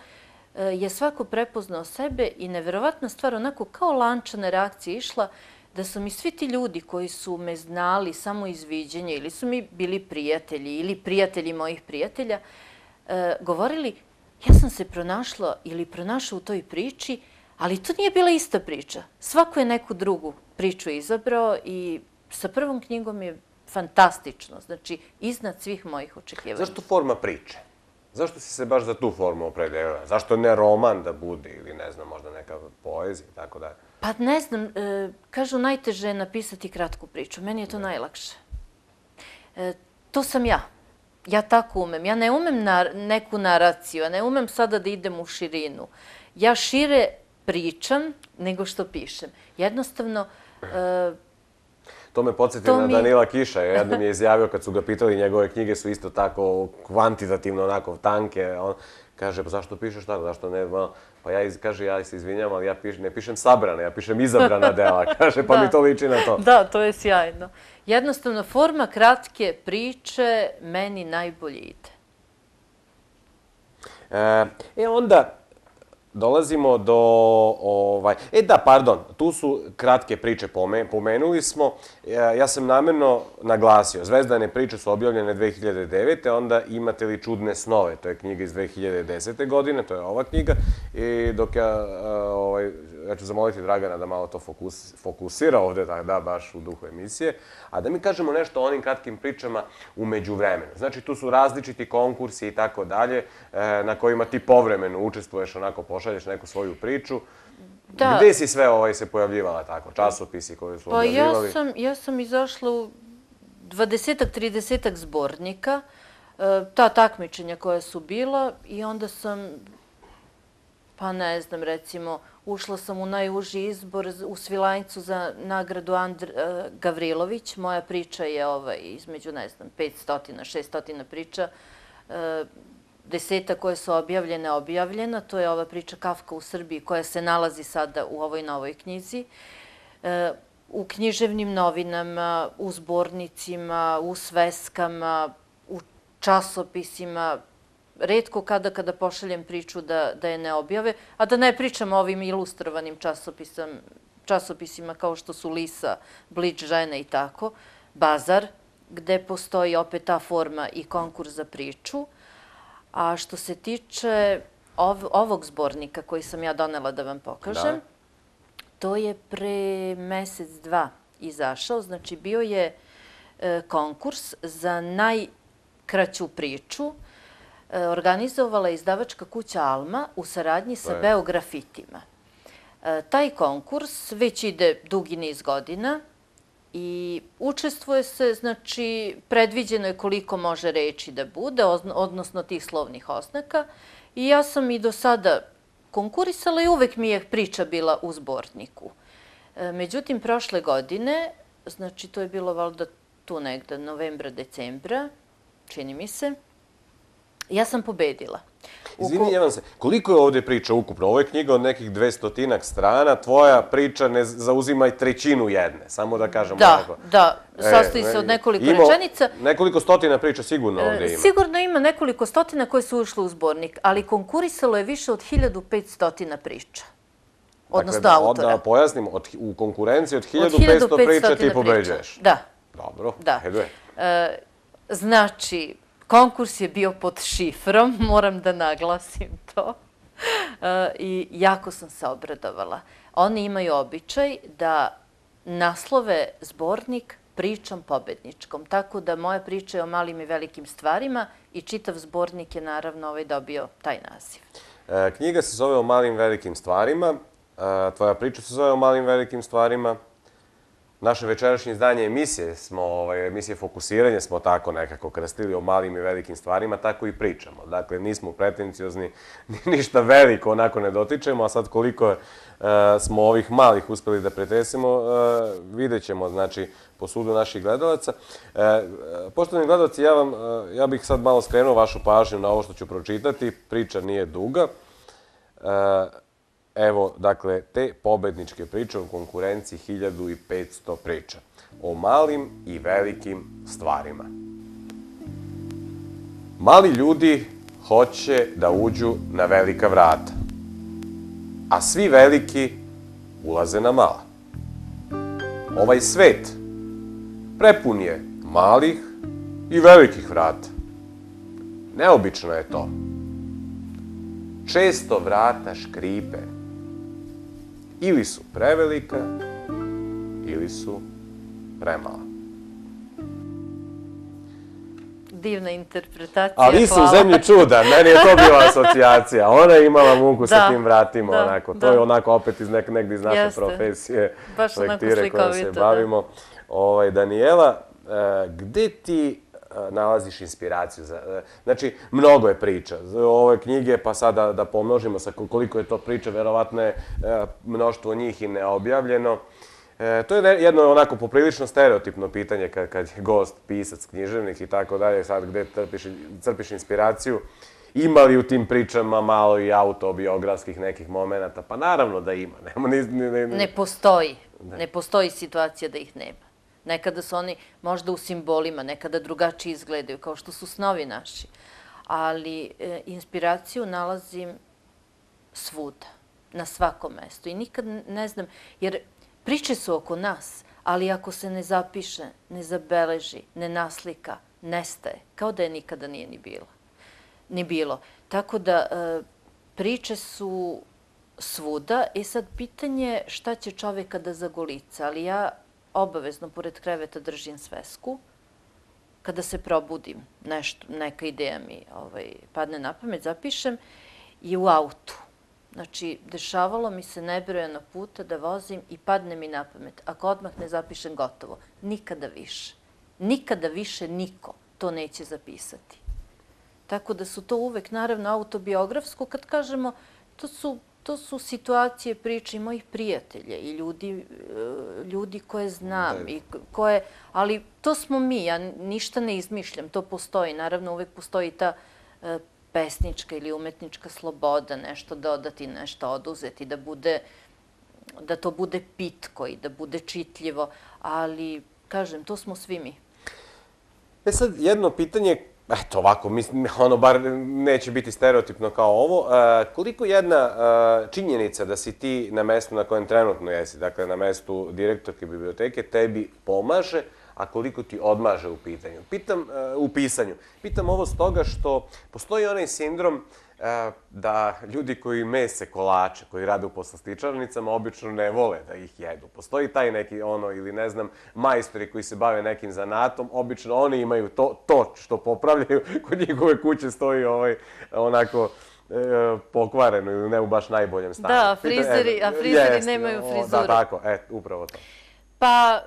je svako prepoznao sebe i neverovatna stvar, onako kao lančana reakcija išla, da su mi svi ti ljudi koji su me znali samo iz viđenja ili su mi bili prijatelji ili prijatelji mojih prijatelja, govorili, ja sam se pronašla ili pronašla u toj priči, ali to nije bila ista priča. Svako je neku drugu priču izabrao i sa prvom knjigom je fantastično. Znači, iznad svih mojih očekivanja. Zašto forma priče? Zašto si se baš za tu formu opredelila? Zašto ne roman da bude ili ne znam, možda neka poezija i tako dalje? Pa ne znam, kažu najteže je napisati kratku priču. Meni je to najlakše. To sam ja. Ja tako umem. Ja ne umem neku naraciju, ja ne umem sada da idem u širinu. Ja šire pričam nego što pišem. Jednostavno... To me podsjeti na Danila Kiša. Jednom je izjavio kad su ga pitali, njegove knjige su isto tako kvantitativno onako tanke. On kaže, pa zašto pišeš tako, zašto ne... Pa ja, kaže, ja se izvinjam, ali ja ne pišem sabrane, ja pišem izabrana dela. Kaže, pa mi to liči na to. Da, to je sjajno. Jednostavno, forma kratke priče meni najbolje ide. E, onda... Dolazimo do... E da, pardon, tu su kratke priče, pomenuli smo. Ja sam namjerno naglasio, Zvezdane priče su objavljene dve hiljade devete. Onda Imate li čudne snove, to je knjiga iz dve hiljade desete. godine, to je ova knjiga. I dok ja, ja ću zamoliti Dragana da malo to fokusira ovde, da, baš u duhu emisije, a da mi kažemo nešto o onim kratkim pričama u međuvremenu. Znači, tu su različiti konkursi i tako dalje, na kojima ti povremeno učestvuješ, onako pošalješ neku svoju priču. Gde si sve se pojavljivala tako? Časopisi koji su objavljivali? Pa ja sam izašla u dvadesetak, tridesetak zbornika, ta takmičenja koja su bila i onda sam, pa ne znam, recimo, ušla sam u najuži izbor u Svilajncu za nagradu Andra Gavrilović. Moja priča je između, ne znam, petsto, šesto priča. Deseta koje su objavljene, objavljena. To je ova priča Kafka u Srbiji koja se nalazi sada u ovoj novoj knjizi. U književnim novinama, u zbornicima, u sveskama, u časopisima. Retko kada kada pošaljem priču da je ne objave, a da ne pričam o ovim ilustrovanim časopisima kao što su Lisa, Blič, Žene i tako, Bazar, gde postoji opet ta forma i konkurs za priču. A što se tiče ovog zbornika koji sam ja donela da vam pokažem, to je pre mesec, dva izašao. Znači, bio je konkurs za najkraću priču. Organizovala je izdavačka kuća Alma u saradnji sa Beografitima. Taj konkurs već ide dugi niz godina i učestvuje se, znači, predviđeno je koliko može reči da bude, odnosno tih slovnih oznaka. I ja sam i do sada konkurisala i uvek mi je priča bila u zborniku. Međutim, prošle godine, znači to je bilo valjda tu negde novembra, decembra, čini mi se, ja sam pobedila. Izvinjavam se, koliko je ovdje priča ukupno? Ovo je knjiga od nekih dvestotinak strana, tvoja priča ne zauzima i trećinu jedne, samo da kažem ovako. Da, da, sastoji se od nekoliko rečenica. Nekoliko stotina priča sigurno ovdje ima. Sigurno ima nekoliko stotina koje su ušle u zbornik, ali konkurisalo je više od hiljadu petsto priča. Odnosno autora. Da pojasnimo, u konkurenciji od hiljadu petsto priča ti pobeđuješ. Da. Dobro, ajde. Znači, konkurs je bio pod šifrom, moram da naglasim to. I jako sam se obradovala. Oni imaju običaj da naslove zbornik pričom pobedničkom. Tako da moja priča je o malim i velikim stvarima i čitav zbornik je naravno dobio taj naziv. Knjiga se zove O malim velikim stvarima. Tvoja priča se zove O malim velikim stvarima. Naše večerašnje izdanje emisije, emisije Fokusiranje, smo tako nekako krstili o malim i velikim stvarima, tako i pričamo. Dakle, nismo pretenciozni, ništa veliko onako ne dotičemo, a sad koliko smo ovih malih uspeli da pretresimo, vidjet ćemo, znači, po sudu naših gledalaca. Poštovani gledalci, ja bih sad malo skrenuo vašu pažnju na ovo što ću pročitati. Priča nije duga. Evo, dakle, te pobedničke priče u konkurenciji hiljadu petsto priča. O malim i velikim stvarima. Mali ljudi hoće da uđu na velika vrata, a svi veliki ulaze na mala. Ovaj svet prepun je malih i velikih vrata. Neobično je to. Često vrata škripe. Ili su prevelika, ili su premala. Divna interpretacija, hvala. Ali su u zemlji čuda, meni je to bila asocijacija. Ona je imala muku sa tim vratima, onako. To je onako opet negdje iz naše profesije, lektire koje se bavimo. Danijela, gde ti nalaziš inspiraciju? Znači, mnogo je priča. Ove knjige, pa sada da pomnožimo sa koliko je to priča, verovatno je mnoštvo njih i neobjavljeno. To je jedno onako poprilično stereotipno pitanje kad je gost, pisac, književnik i tako dalje, sad gde crpiš inspiraciju. Ima li u tim pričama malo i autobiografskih nekih momenta? Pa naravno da ima. Ne postoji. Ne postoji situacija da ih nema. Nekada su oni možda u simbolima, nekada drugačije izgledaju, kao što su snovi naši. Ali inspiraciju nalazim svuda, na svakom mestu. I nikad ne znam, jer priče su oko nas, ali ako se ne zapiše, ne zabeleži, ne naslika, nestaje, kao da je nikada nije ni bilo. Tako da priče su svuda i sad pitanje šta će čoveka da zagolica, ali ja obavezno pored kreveta držim svesku. Kada se probudim, neka ideja mi padne na pamet, zapišem i u autu. Znači, dešavalo mi se nebrojeno puta da vozim i padne mi na pamet. Ako odmah ne zapišem, gotovo. Nikada više. Nikada više niko to neće zapisati. Tako da su to uvek, naravno, autobiografsko. Kad kažemo, to su To su situacije, priče i mojih prijatelja i ljudi koje znam, ali to smo mi, ja ništa ne izmišljam, to postoji. Naravno, uvek postoji ta pesnička ili umetnička sloboda, nešto dodati, nešto oduzeti, da to bude pitko i da bude čitljivo, ali, kažem, to smo svi mi. E sad, jedno pitanje, eto ovako, ono bar neće biti stereotipno kao ovo. Koliko jedna činjenica da si ti na mestu na kojem trenutno jesi, dakle na mestu direktorke biblioteke, tebi pomaže, a koliko ti odmaže u pitanju? Pitam, u pisanju. Pitam ovo stoga što postoji onaj sindrom da ljudi koji mese kolače, koji rade u poslastičarnicama, obično ne vole da ih jedu. Postoji taj neki ono, ili ne znam, majstori koji se bave nekim zanatom, obično oni imaju to što popravljaju, kod njihove kuće stoji onako pokvareno ili ne u baš najboljem stanju. Da, a frizeri nemaju frizuru. Da, tako, eto, upravo to. Pa...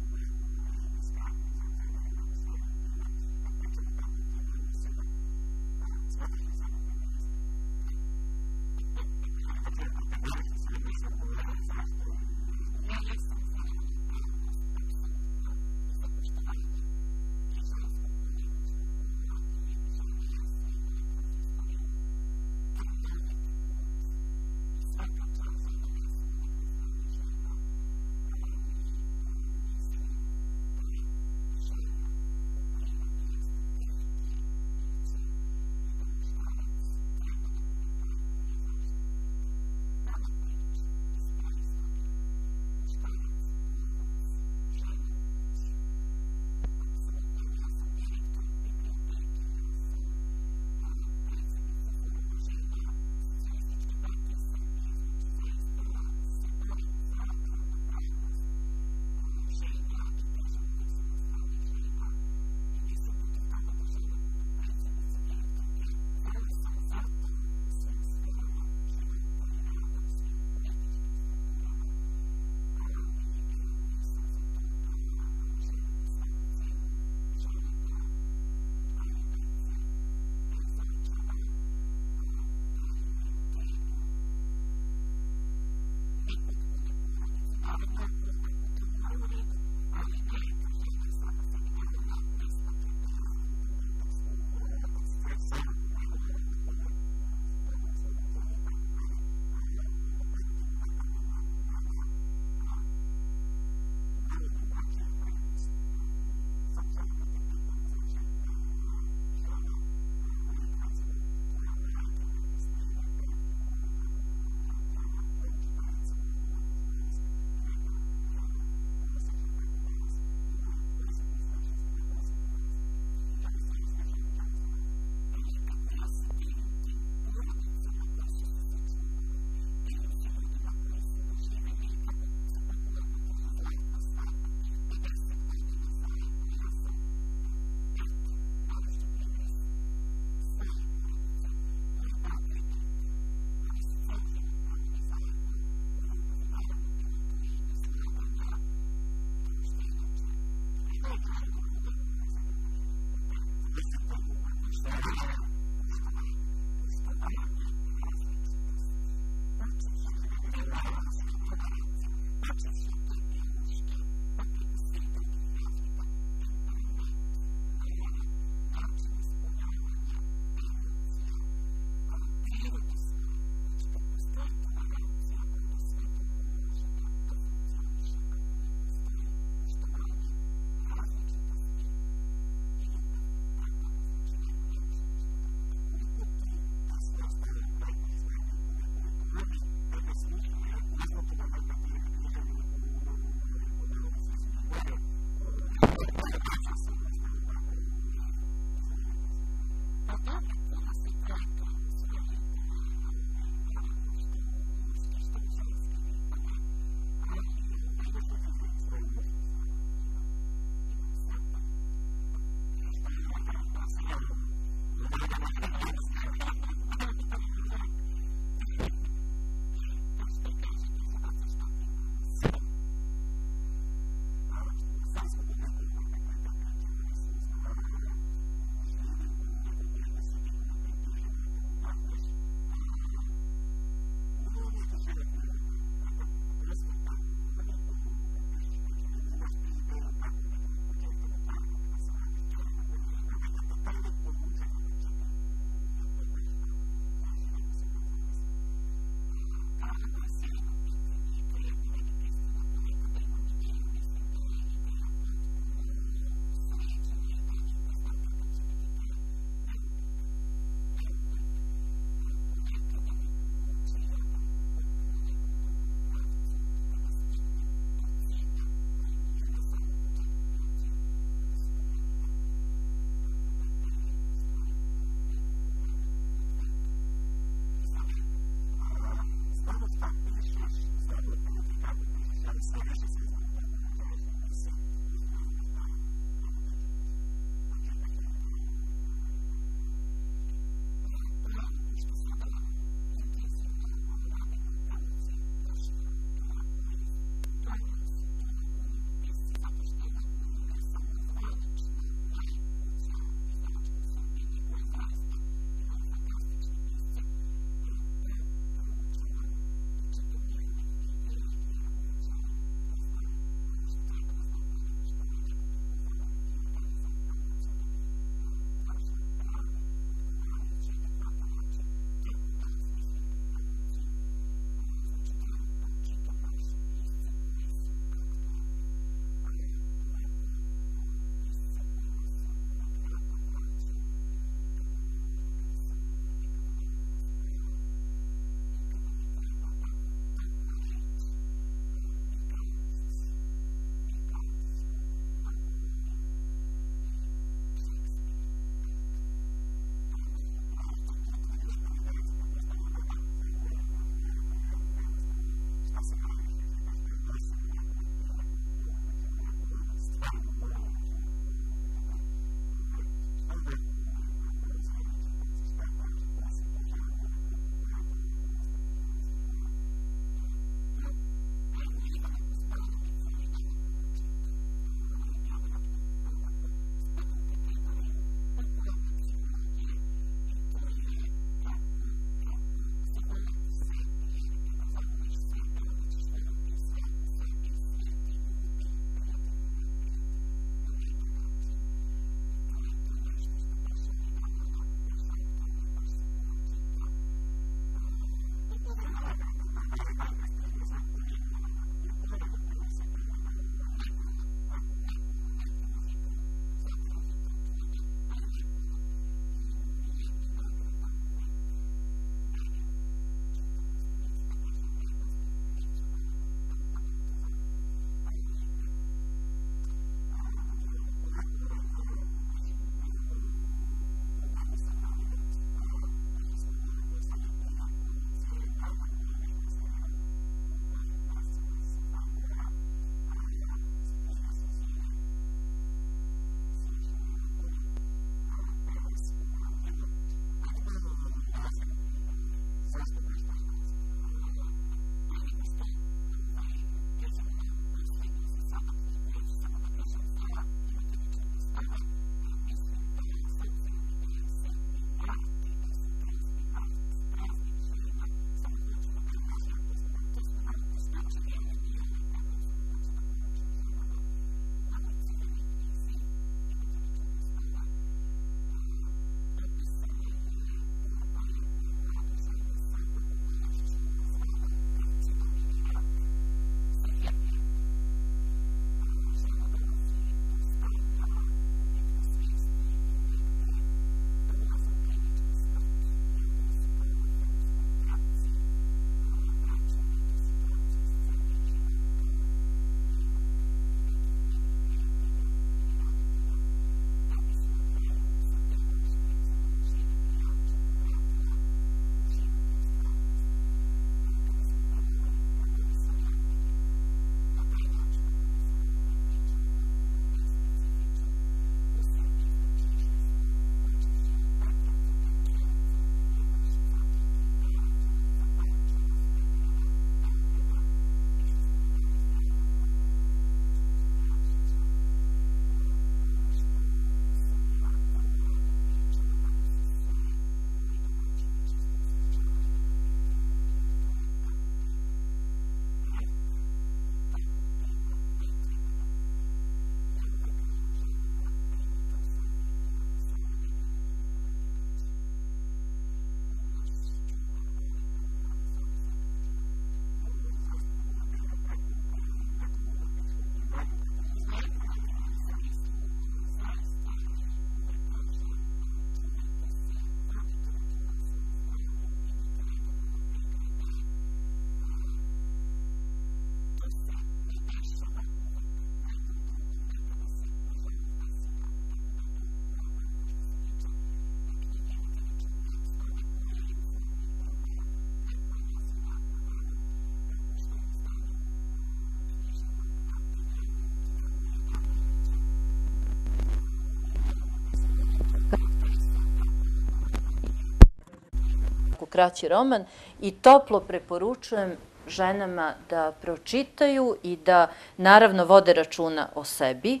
kraći roman i toplo preporučujem ženama da pročitaju i da naravno vode računa o sebi.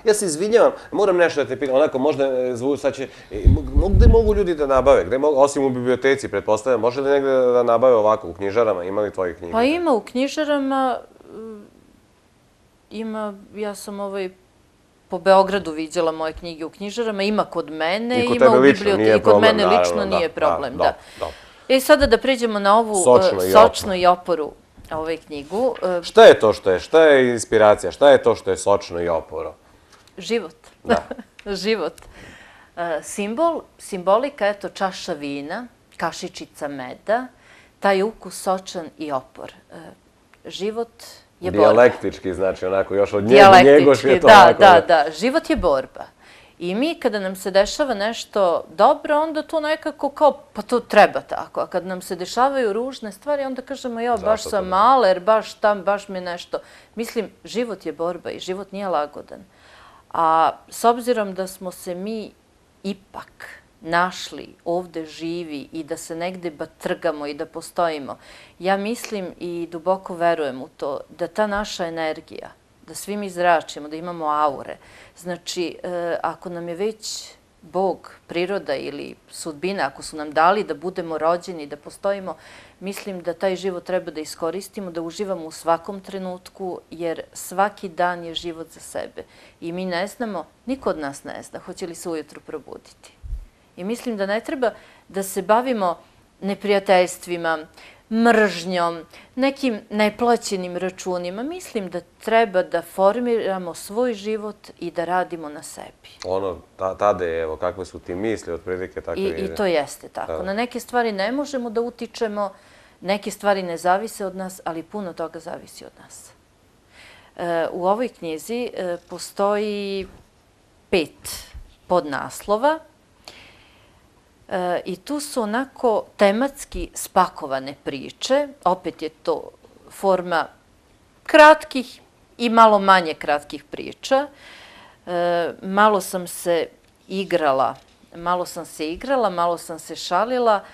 Ja se izvinjavam, moram nešto da te pitam, onako možda zvu, sad će, gde mogu ljudi da nabave, osim u biblioteci, pretpostavljam, može li negde da nabave ovako u knjižarama, ima li tvojih knjiga? Pa ima u knjižarama, ima, ja sam ovaj, po Beogradu viđala moje knjige u knjižarama, ima kod mene, ima u biblioteki, i kod mene lično nije problem, da. I sada da priđemo na ovu Sočnu i Oporu ovaj knjigu. Šta je to što je? Šta je inspiracija? Šta je to što je sočno i oporo? Život. Život. Simbol, simbolika, eto, čaša vina, kašičica meda, taj ukus sočan i opor. Život je borba. Dijalektički, znači, onako, još od njegoš je to onako. Da, da, da. Život je borba. I mi kada nam se dešava nešto dobro, onda to nekako kao, pa to treba tako. A kad nam se dešavaju ružne stvari, onda kažemo, ja, baš sam maler, baš tam, baš mi nešto. Mislim, život je borba i život nije lagodan. A s obzirom da smo se mi ipak našli ovde živi i da se negde batrgamo i da postojimo, ja mislim i duboko verujem u to da ta naša energija, da svi mi zračimo, da imamo aure. Znači, ako nam je već Bog, priroda ili sudbina, ako su nam dali da budemo rođeni, da postojimo, mislim da taj život treba da iskoristimo, da uživamo u svakom trenutku, jer svaki dan je život za sebe. I mi ne znamo, niko od nas ne zna, hoće li se ujutru probuditi. I mislim da ne treba da se bavimo neprijateljstvima, mržnjom, nekim neplaćenim računima. Mislim da treba da formiramo svoj život i da radimo na sebi. Ono, tada je, evo, kakve su ti misli, otprilike tako ide. I to jeste tako. Na neke stvari ne možemo da utičemo, neke stvari ne zavise od nas, ali puno toga zavisi od nas. U ovoj knjizi postoji pet podnaslova, i tu su onako tematski spakovane priče. Opet je to forma kratkih i malo manje kratkih priča. Malo sam se igrala, malo sam se igrala, malo sam se šalila.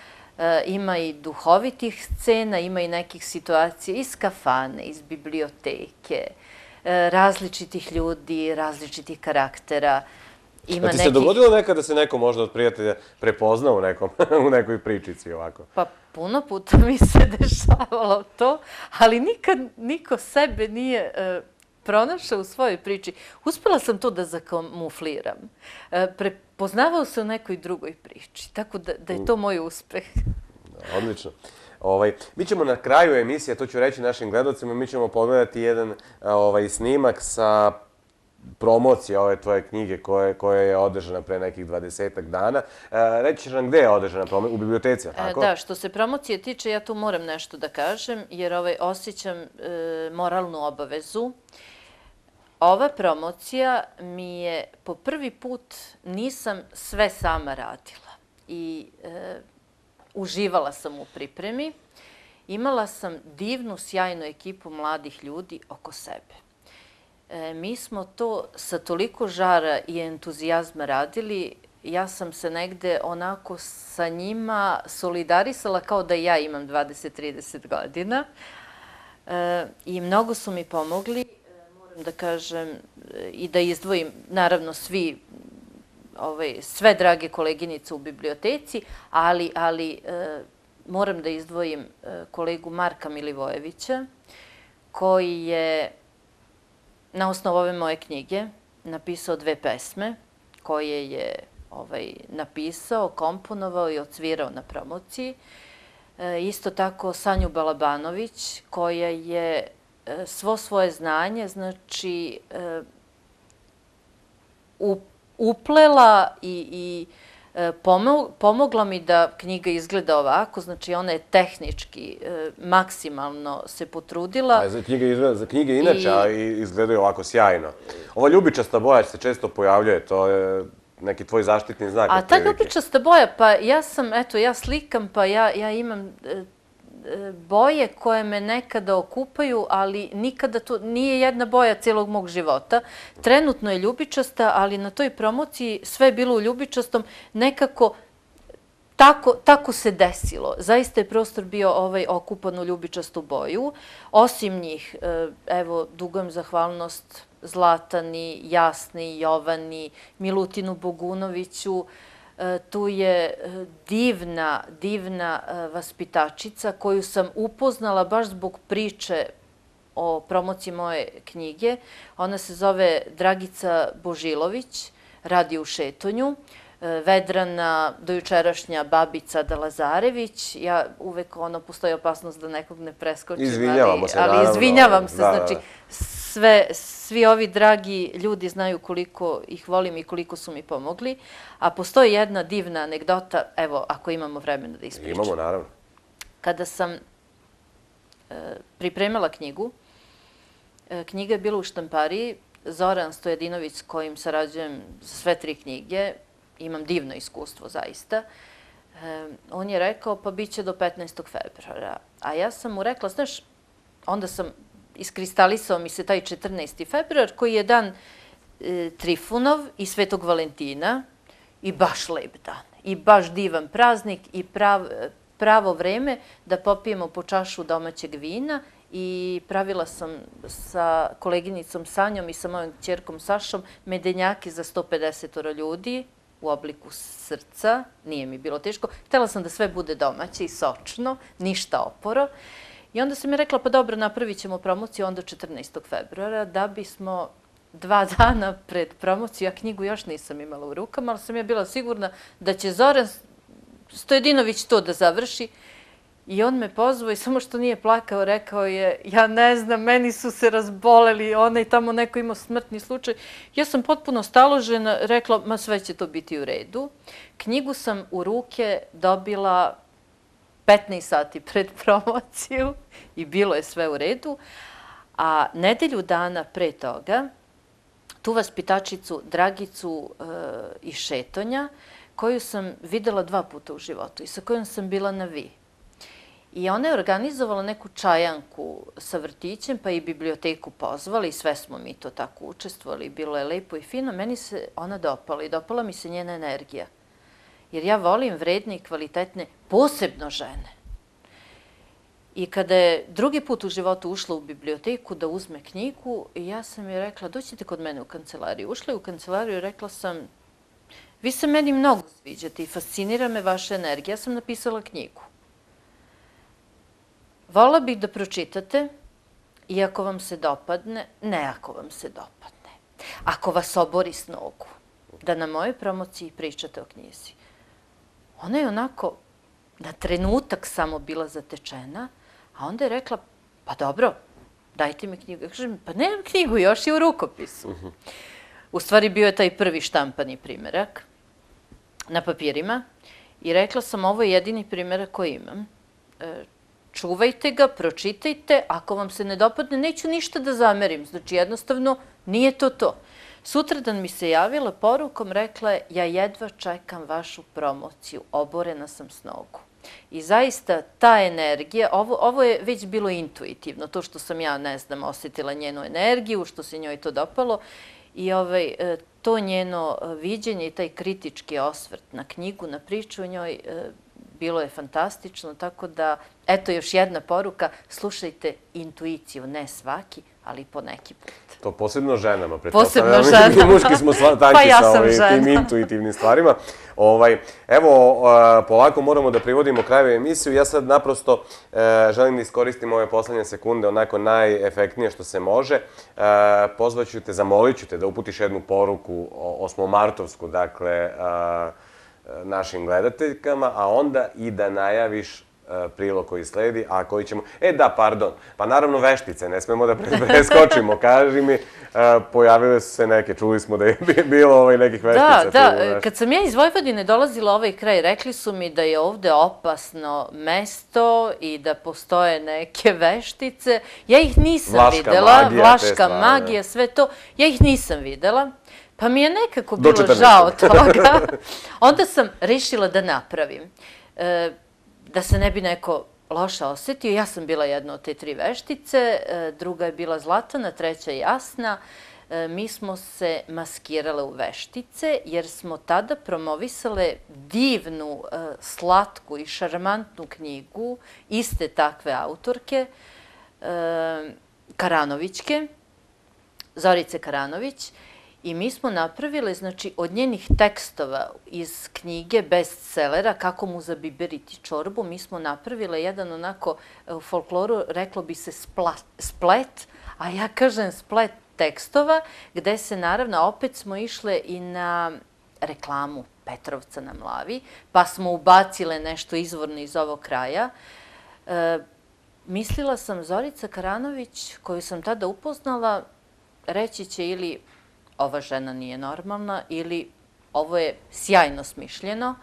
Ima i duhovitih scena, ima i nekih situacija iz kafane, iz biblioteke, različitih ljudi, različitih karaktera. A ti se dogodilo nekad da se neko možda od prijatelja prepozna u nekoj pričici ovako? Pa puno puta mi se dešavalo to, ali nikad niko sebe nije pronašao u svojoj priči. Uspela sam to da zakamufliram. Prepoznavao se u nekoj drugoj priči, tako da je to moj uspeh. Odlično. Mi ćemo na kraju emisije, to ću reći našim gledalcima, mi ćemo pogledati jedan snimak sa promocije ove tvoje knjige koja je održana pre nekih dvadesetak dana. Reći ćeš nam gde je održana promocija? U biblioteci, tako? Da, što se promocije tiče, ja tu moram nešto da kažem, jer osjećam moralnu obavezu. Ova promocija mi je po prvi put nisam sve sama radila i uživala sam u pripremi. Imala sam divnu, sjajnu ekipu mladih ljudi oko sebe. Mi smo to sa toliko žara i entuzijazma radili, ja sam se negde onako sa njima solidarisala kao da ja imam dvadeset do trideset godina i mnogo su mi pomogli, moram da kažem i da izdvojim, naravno svi, sve drage koleginice u biblioteci, ali moram da izdvojim kolegu Marka Milivojevića, koji je na osnovu ove moje knjige napisao dve pesme koje je napisao, komponovao i odsvirao na promociji. Isto tako Sanju Balabanović koja je svo svoje znanje, znači, uplela i pomogla mi da knjiga izgleda ovako, znači ona je tehnički maksimalno se potrudila. Za knjige inače, a izgledaju ovako sjajno. Ova ljubičasta boja se često pojavljuje, to je neki tvoj zaštitni znak. A ta ljubičasta boja, pa ja sam, eto, ja slikam, pa ja imam boje koje me nekada okupaju, ali nikada to nije jedna boja celog mog života. Trenutno je ljubičasta, ali na toj promociji sve je bilo u ljubičastom. Nekako tako, tako se desilo. Zaista je prostor bio ovaj okupan u ljubičastu boju. Osim njih, evo, dugujem zahvalnost Zlatani, Jasni, Jovani, Milutinu Bogunoviću. Tu je divna, divna vaspitačica koju sam upoznala baš zbog priče o promociji moje knjige. Ona se zove Dragica Božilović, radi u Šetonju. Vedrana, dojučerašnja babica Da Lazarević. Ja uvek, ono, postoji opasnost da nekog ne preskočim. Izvinjavamo se, naravno. Ali izvinjavam se, znači, sve, svi ovi dragi ljudi znaju koliko ih volim i koliko su mi pomogli. A postoji jedna divna anegdota, evo, ako imamo vremena da ispričam. Imamo, naravno. Kada sam pripremala knjigu, knjiga je bila u štampariji, Zoran Stojadinović, s kojim sarađujem za sve tri knjige, imam divno iskustvo, zaista. On je rekao, pa bit će do petnaestog februara. A ja sam mu rekla, znaš, onda sam iskristalisao mi se taj četrnaesti februar, koji je dan Trifunov i Svetog Valentina, i baš lep dan, i baš divan praznik, i pravo vreme da popijemo po čašu domaćeg vina. I pravila sam sa koleginicom Sanjom i sa mojom ćerkom Sašom medenjake za sto pedeset ljudi u obliku srca. Nije mi bilo teško. Htela sam da sve bude domaće i sočno, ništa oporo. I onda sam mi rekla, pa dobro, napravit ćemo promociju onda četrnaestog februara, da bismo dva dana pred promociju, ja knjigu još nisam imala u rukama, ali sam ja bila sigurna da će Zoran Stojadinović to da završi. I on me pozvao i samo što nije plakao, rekao je, ja ne znam, meni su se razboleli, onaj tamo neko imao smrtni slučaj. Ja sam potpuno staložena, rekla, ma sve će to biti u redu. Knjigu sam u ruke dobila petnaest sati pred promociju i bilo je sve u redu. A nedelju dana pre toga, tu vaspitačicu Dragicu iz Šetonja, koju sam videla dva puta u životu i sa kojom sam bila na vi. I ona je organizovala neku čajanku sa vrtićem, pa i biblioteku pozvali i sve smo mi to tako učestvovali. Bilo je lepo i fino. Meni se ona dopala i dopala mi se njena energija. Jer ja volim vredne i kvalitetne, posebno žene. I kada je drugi put u životu ušla u biblioteku da uzme knjigu, ja sam joj rekla, dođite kod mene u kancelariju. Ušla je u kancelariju i rekla sam, vi se meni mnogo sviđate i fascinira me vaša energija. Ja sam napisala knjigu. Vola bih da pročitate i ako vam se dopadne, ne ako vam se dopadne. Ako vas obori s nogu, da na mojoj promociji pričate o knjizi. Ona je onako na trenutak samo bila zatečena, a onda je rekla, pa dobro, dajte mi knjigu. Ja kažem, pa nemam knjigu, još je u rukopisu. U stvari bio je taj prvi štampani primerak na papirima i rekla sam, ovo je jedini primerak koji imam. Čuvajte ga, pročitajte, ako vam se ne dopadne, neću ništa da zamerim. Znači, jednostavno, nije to to. Sutradan mi se javila porukom, rekla je, ja jedva čekam vašu promociju, oborena sam s nogu. I zaista, ta energija, ovo je već bilo intuitivno, to što sam ja, ne znam, osjetila njenu energiju, što se njoj to dopalo, i to njeno viđenje i taj kritički osvrt na knjigu, na priču o njoj, bilo je fantastično, tako da, eto još jedna poruka, slušajte intuiciju, ne svaki, ali po neki put. To posebno ženama, pretpostavljam. Posebno ženama. Mi muški smo tanki sa tim intuitivnim stvarima. Evo, polako moramo da privodimo kraju emisiju. Ja sad naprosto želim da iskoristim ove poslednje sekunde onako najefektnije što se može. Pozvaću te, zamolit ću te da uputiš jednu poruku osmomartovsku, dakle, našim gledateljkama, a onda i da najaviš prilog koji sledi, a koji ćemo... E da, pardon, pa naravno veštice, ne smemo da preskočimo, kaži mi, pojavile su se neke, čuli smo da je bilo nekih veštica. Da, da, kad sam ja iz Vojvodine dolazila ovaj kraj, rekli su mi da je ovde opasno mesto i da postoje neke veštice. Ja ih nisam videla, vlaška magija, sve to, ja ih nisam videla. Pa mi je nekako bilo žao toga. Onda sam rešila da napravim. Da se ne bi neko loše osetio. Ja sam bila jedna od te tri veštice, druga je bila Zlatana, treća Jasna. mi smo se maskirale u veštice, jer smo tada promovisale divnu, slatku i šarmantnu knjigu iste takve autorke, Karanovićke, Zorice Karanović, i mi smo napravile, znači, od njenih tekstova iz knjige bestsellera Kako mu zabiberiti čorbu, mi smo napravile jedan onako, u folkloru reklo bi se splet, a ja kažem splet tekstova, gde se naravno, opet smo išle i na reklamu Petrovca na Mlavi, pa smo ubacile nešto izvorno iz ovog kraja. Mislila sam, Zorica Karanović, koju sam tada upoznala, reći će ili ova žena nije normalna ili ovo je sjajno smišljeno.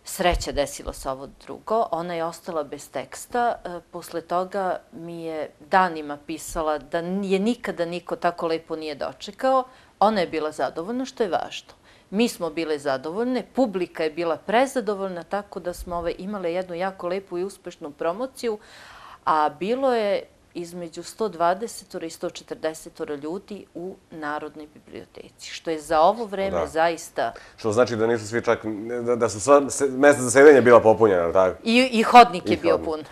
Sreća, desilo se ovo drugo. Ona je ostala bez teksta. Posle toga mi je danima pisala da je nikada niko tako lepo nije dočekao. Ona je bila zadovoljna, što je važno. Mi smo bile zadovoljne, publika je bila prezadovoljna, tako da smo imale jednu jako lepu i uspešnu promociju, a bilo je između sto dvadeset i sto četrdeset ljudi u Narodnoj biblioteci, što je za ovo vreme zaista... Što znači da nisu svi čak, da su sva mesta za sedenje bila popunjena, ali tako? I hodnik je bio pun.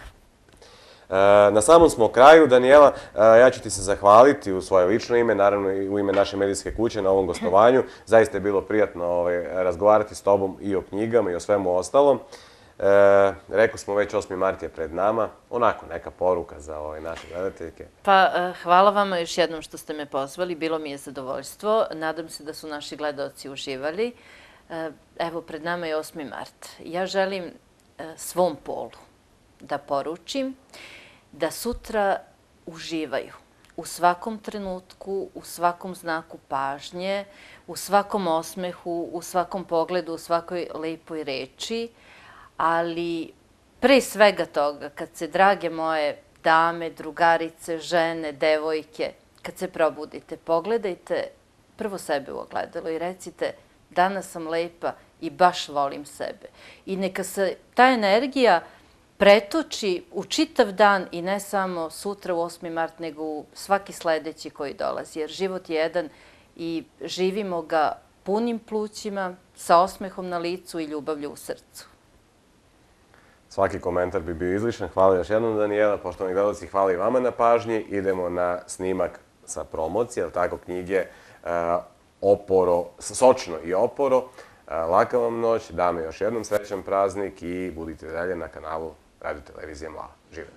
Na samom smo kraju, Danijela, ja ću ti se zahvaliti u svoje lično ime, naravno i u ime naše medijske kuće na ovom gostovanju. Zaista je bilo prijatno razgovarati s tobom i o knjigama i o svemu ostalom. Rekli smo već osmi mart je pred nama, onako neka poruka za naše gledateljke. Pa hvala vama još jednom što ste me pozvali, bilo mi je zadovoljstvo, nadam se da su naši gledaoci uživali. Evo, pred nama je osmi mart. Ja želim svom polu da poručim da sutra uživaju u svakom trenutku, u svakom znaku pažnje, u svakom osmehu, u svakom pogledu, u svakoj lepoj reči, ali pre svega toga, kad se, drage moje dame, drugarice, žene, devojke, kad se probudite, pogledajte prvo sebe u ogledalo i recite danas sam lepa i baš volim sebe. I neka se ta energija pretoči u čitav dan i ne samo sutra u osmi mart, nego u svaki sledeći koji dolazi. Jer život je jedan i živimo ga punim plućima, sa osmehom na licu i ljubavlju u srcu. Svaki komentar bi bio izlišan. Hvala još jednom, Danijela. Poštovani gledalci, hvala i vama na pažnji. Idemo na snimak sa promocije, ali tako, knjige Oporo, Sočno i Oporo. Laka vam noć, dame još jednom srećan praznik i budite dalje na kanalu Radio Televizije Mlava. Živeli!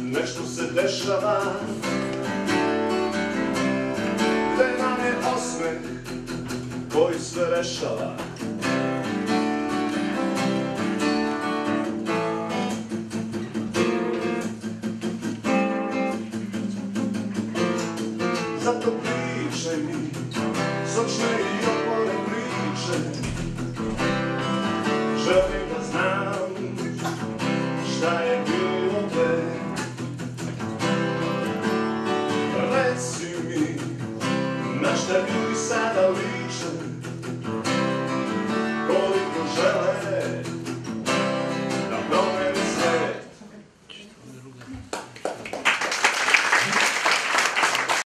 Nešto se dešava, gde nam je osmeh koji sve rešava. Zato pričaj mi sočne i opore priče, želim da znam šta je bilo te. Reci mi na šta ljudi sada liče, koliko žele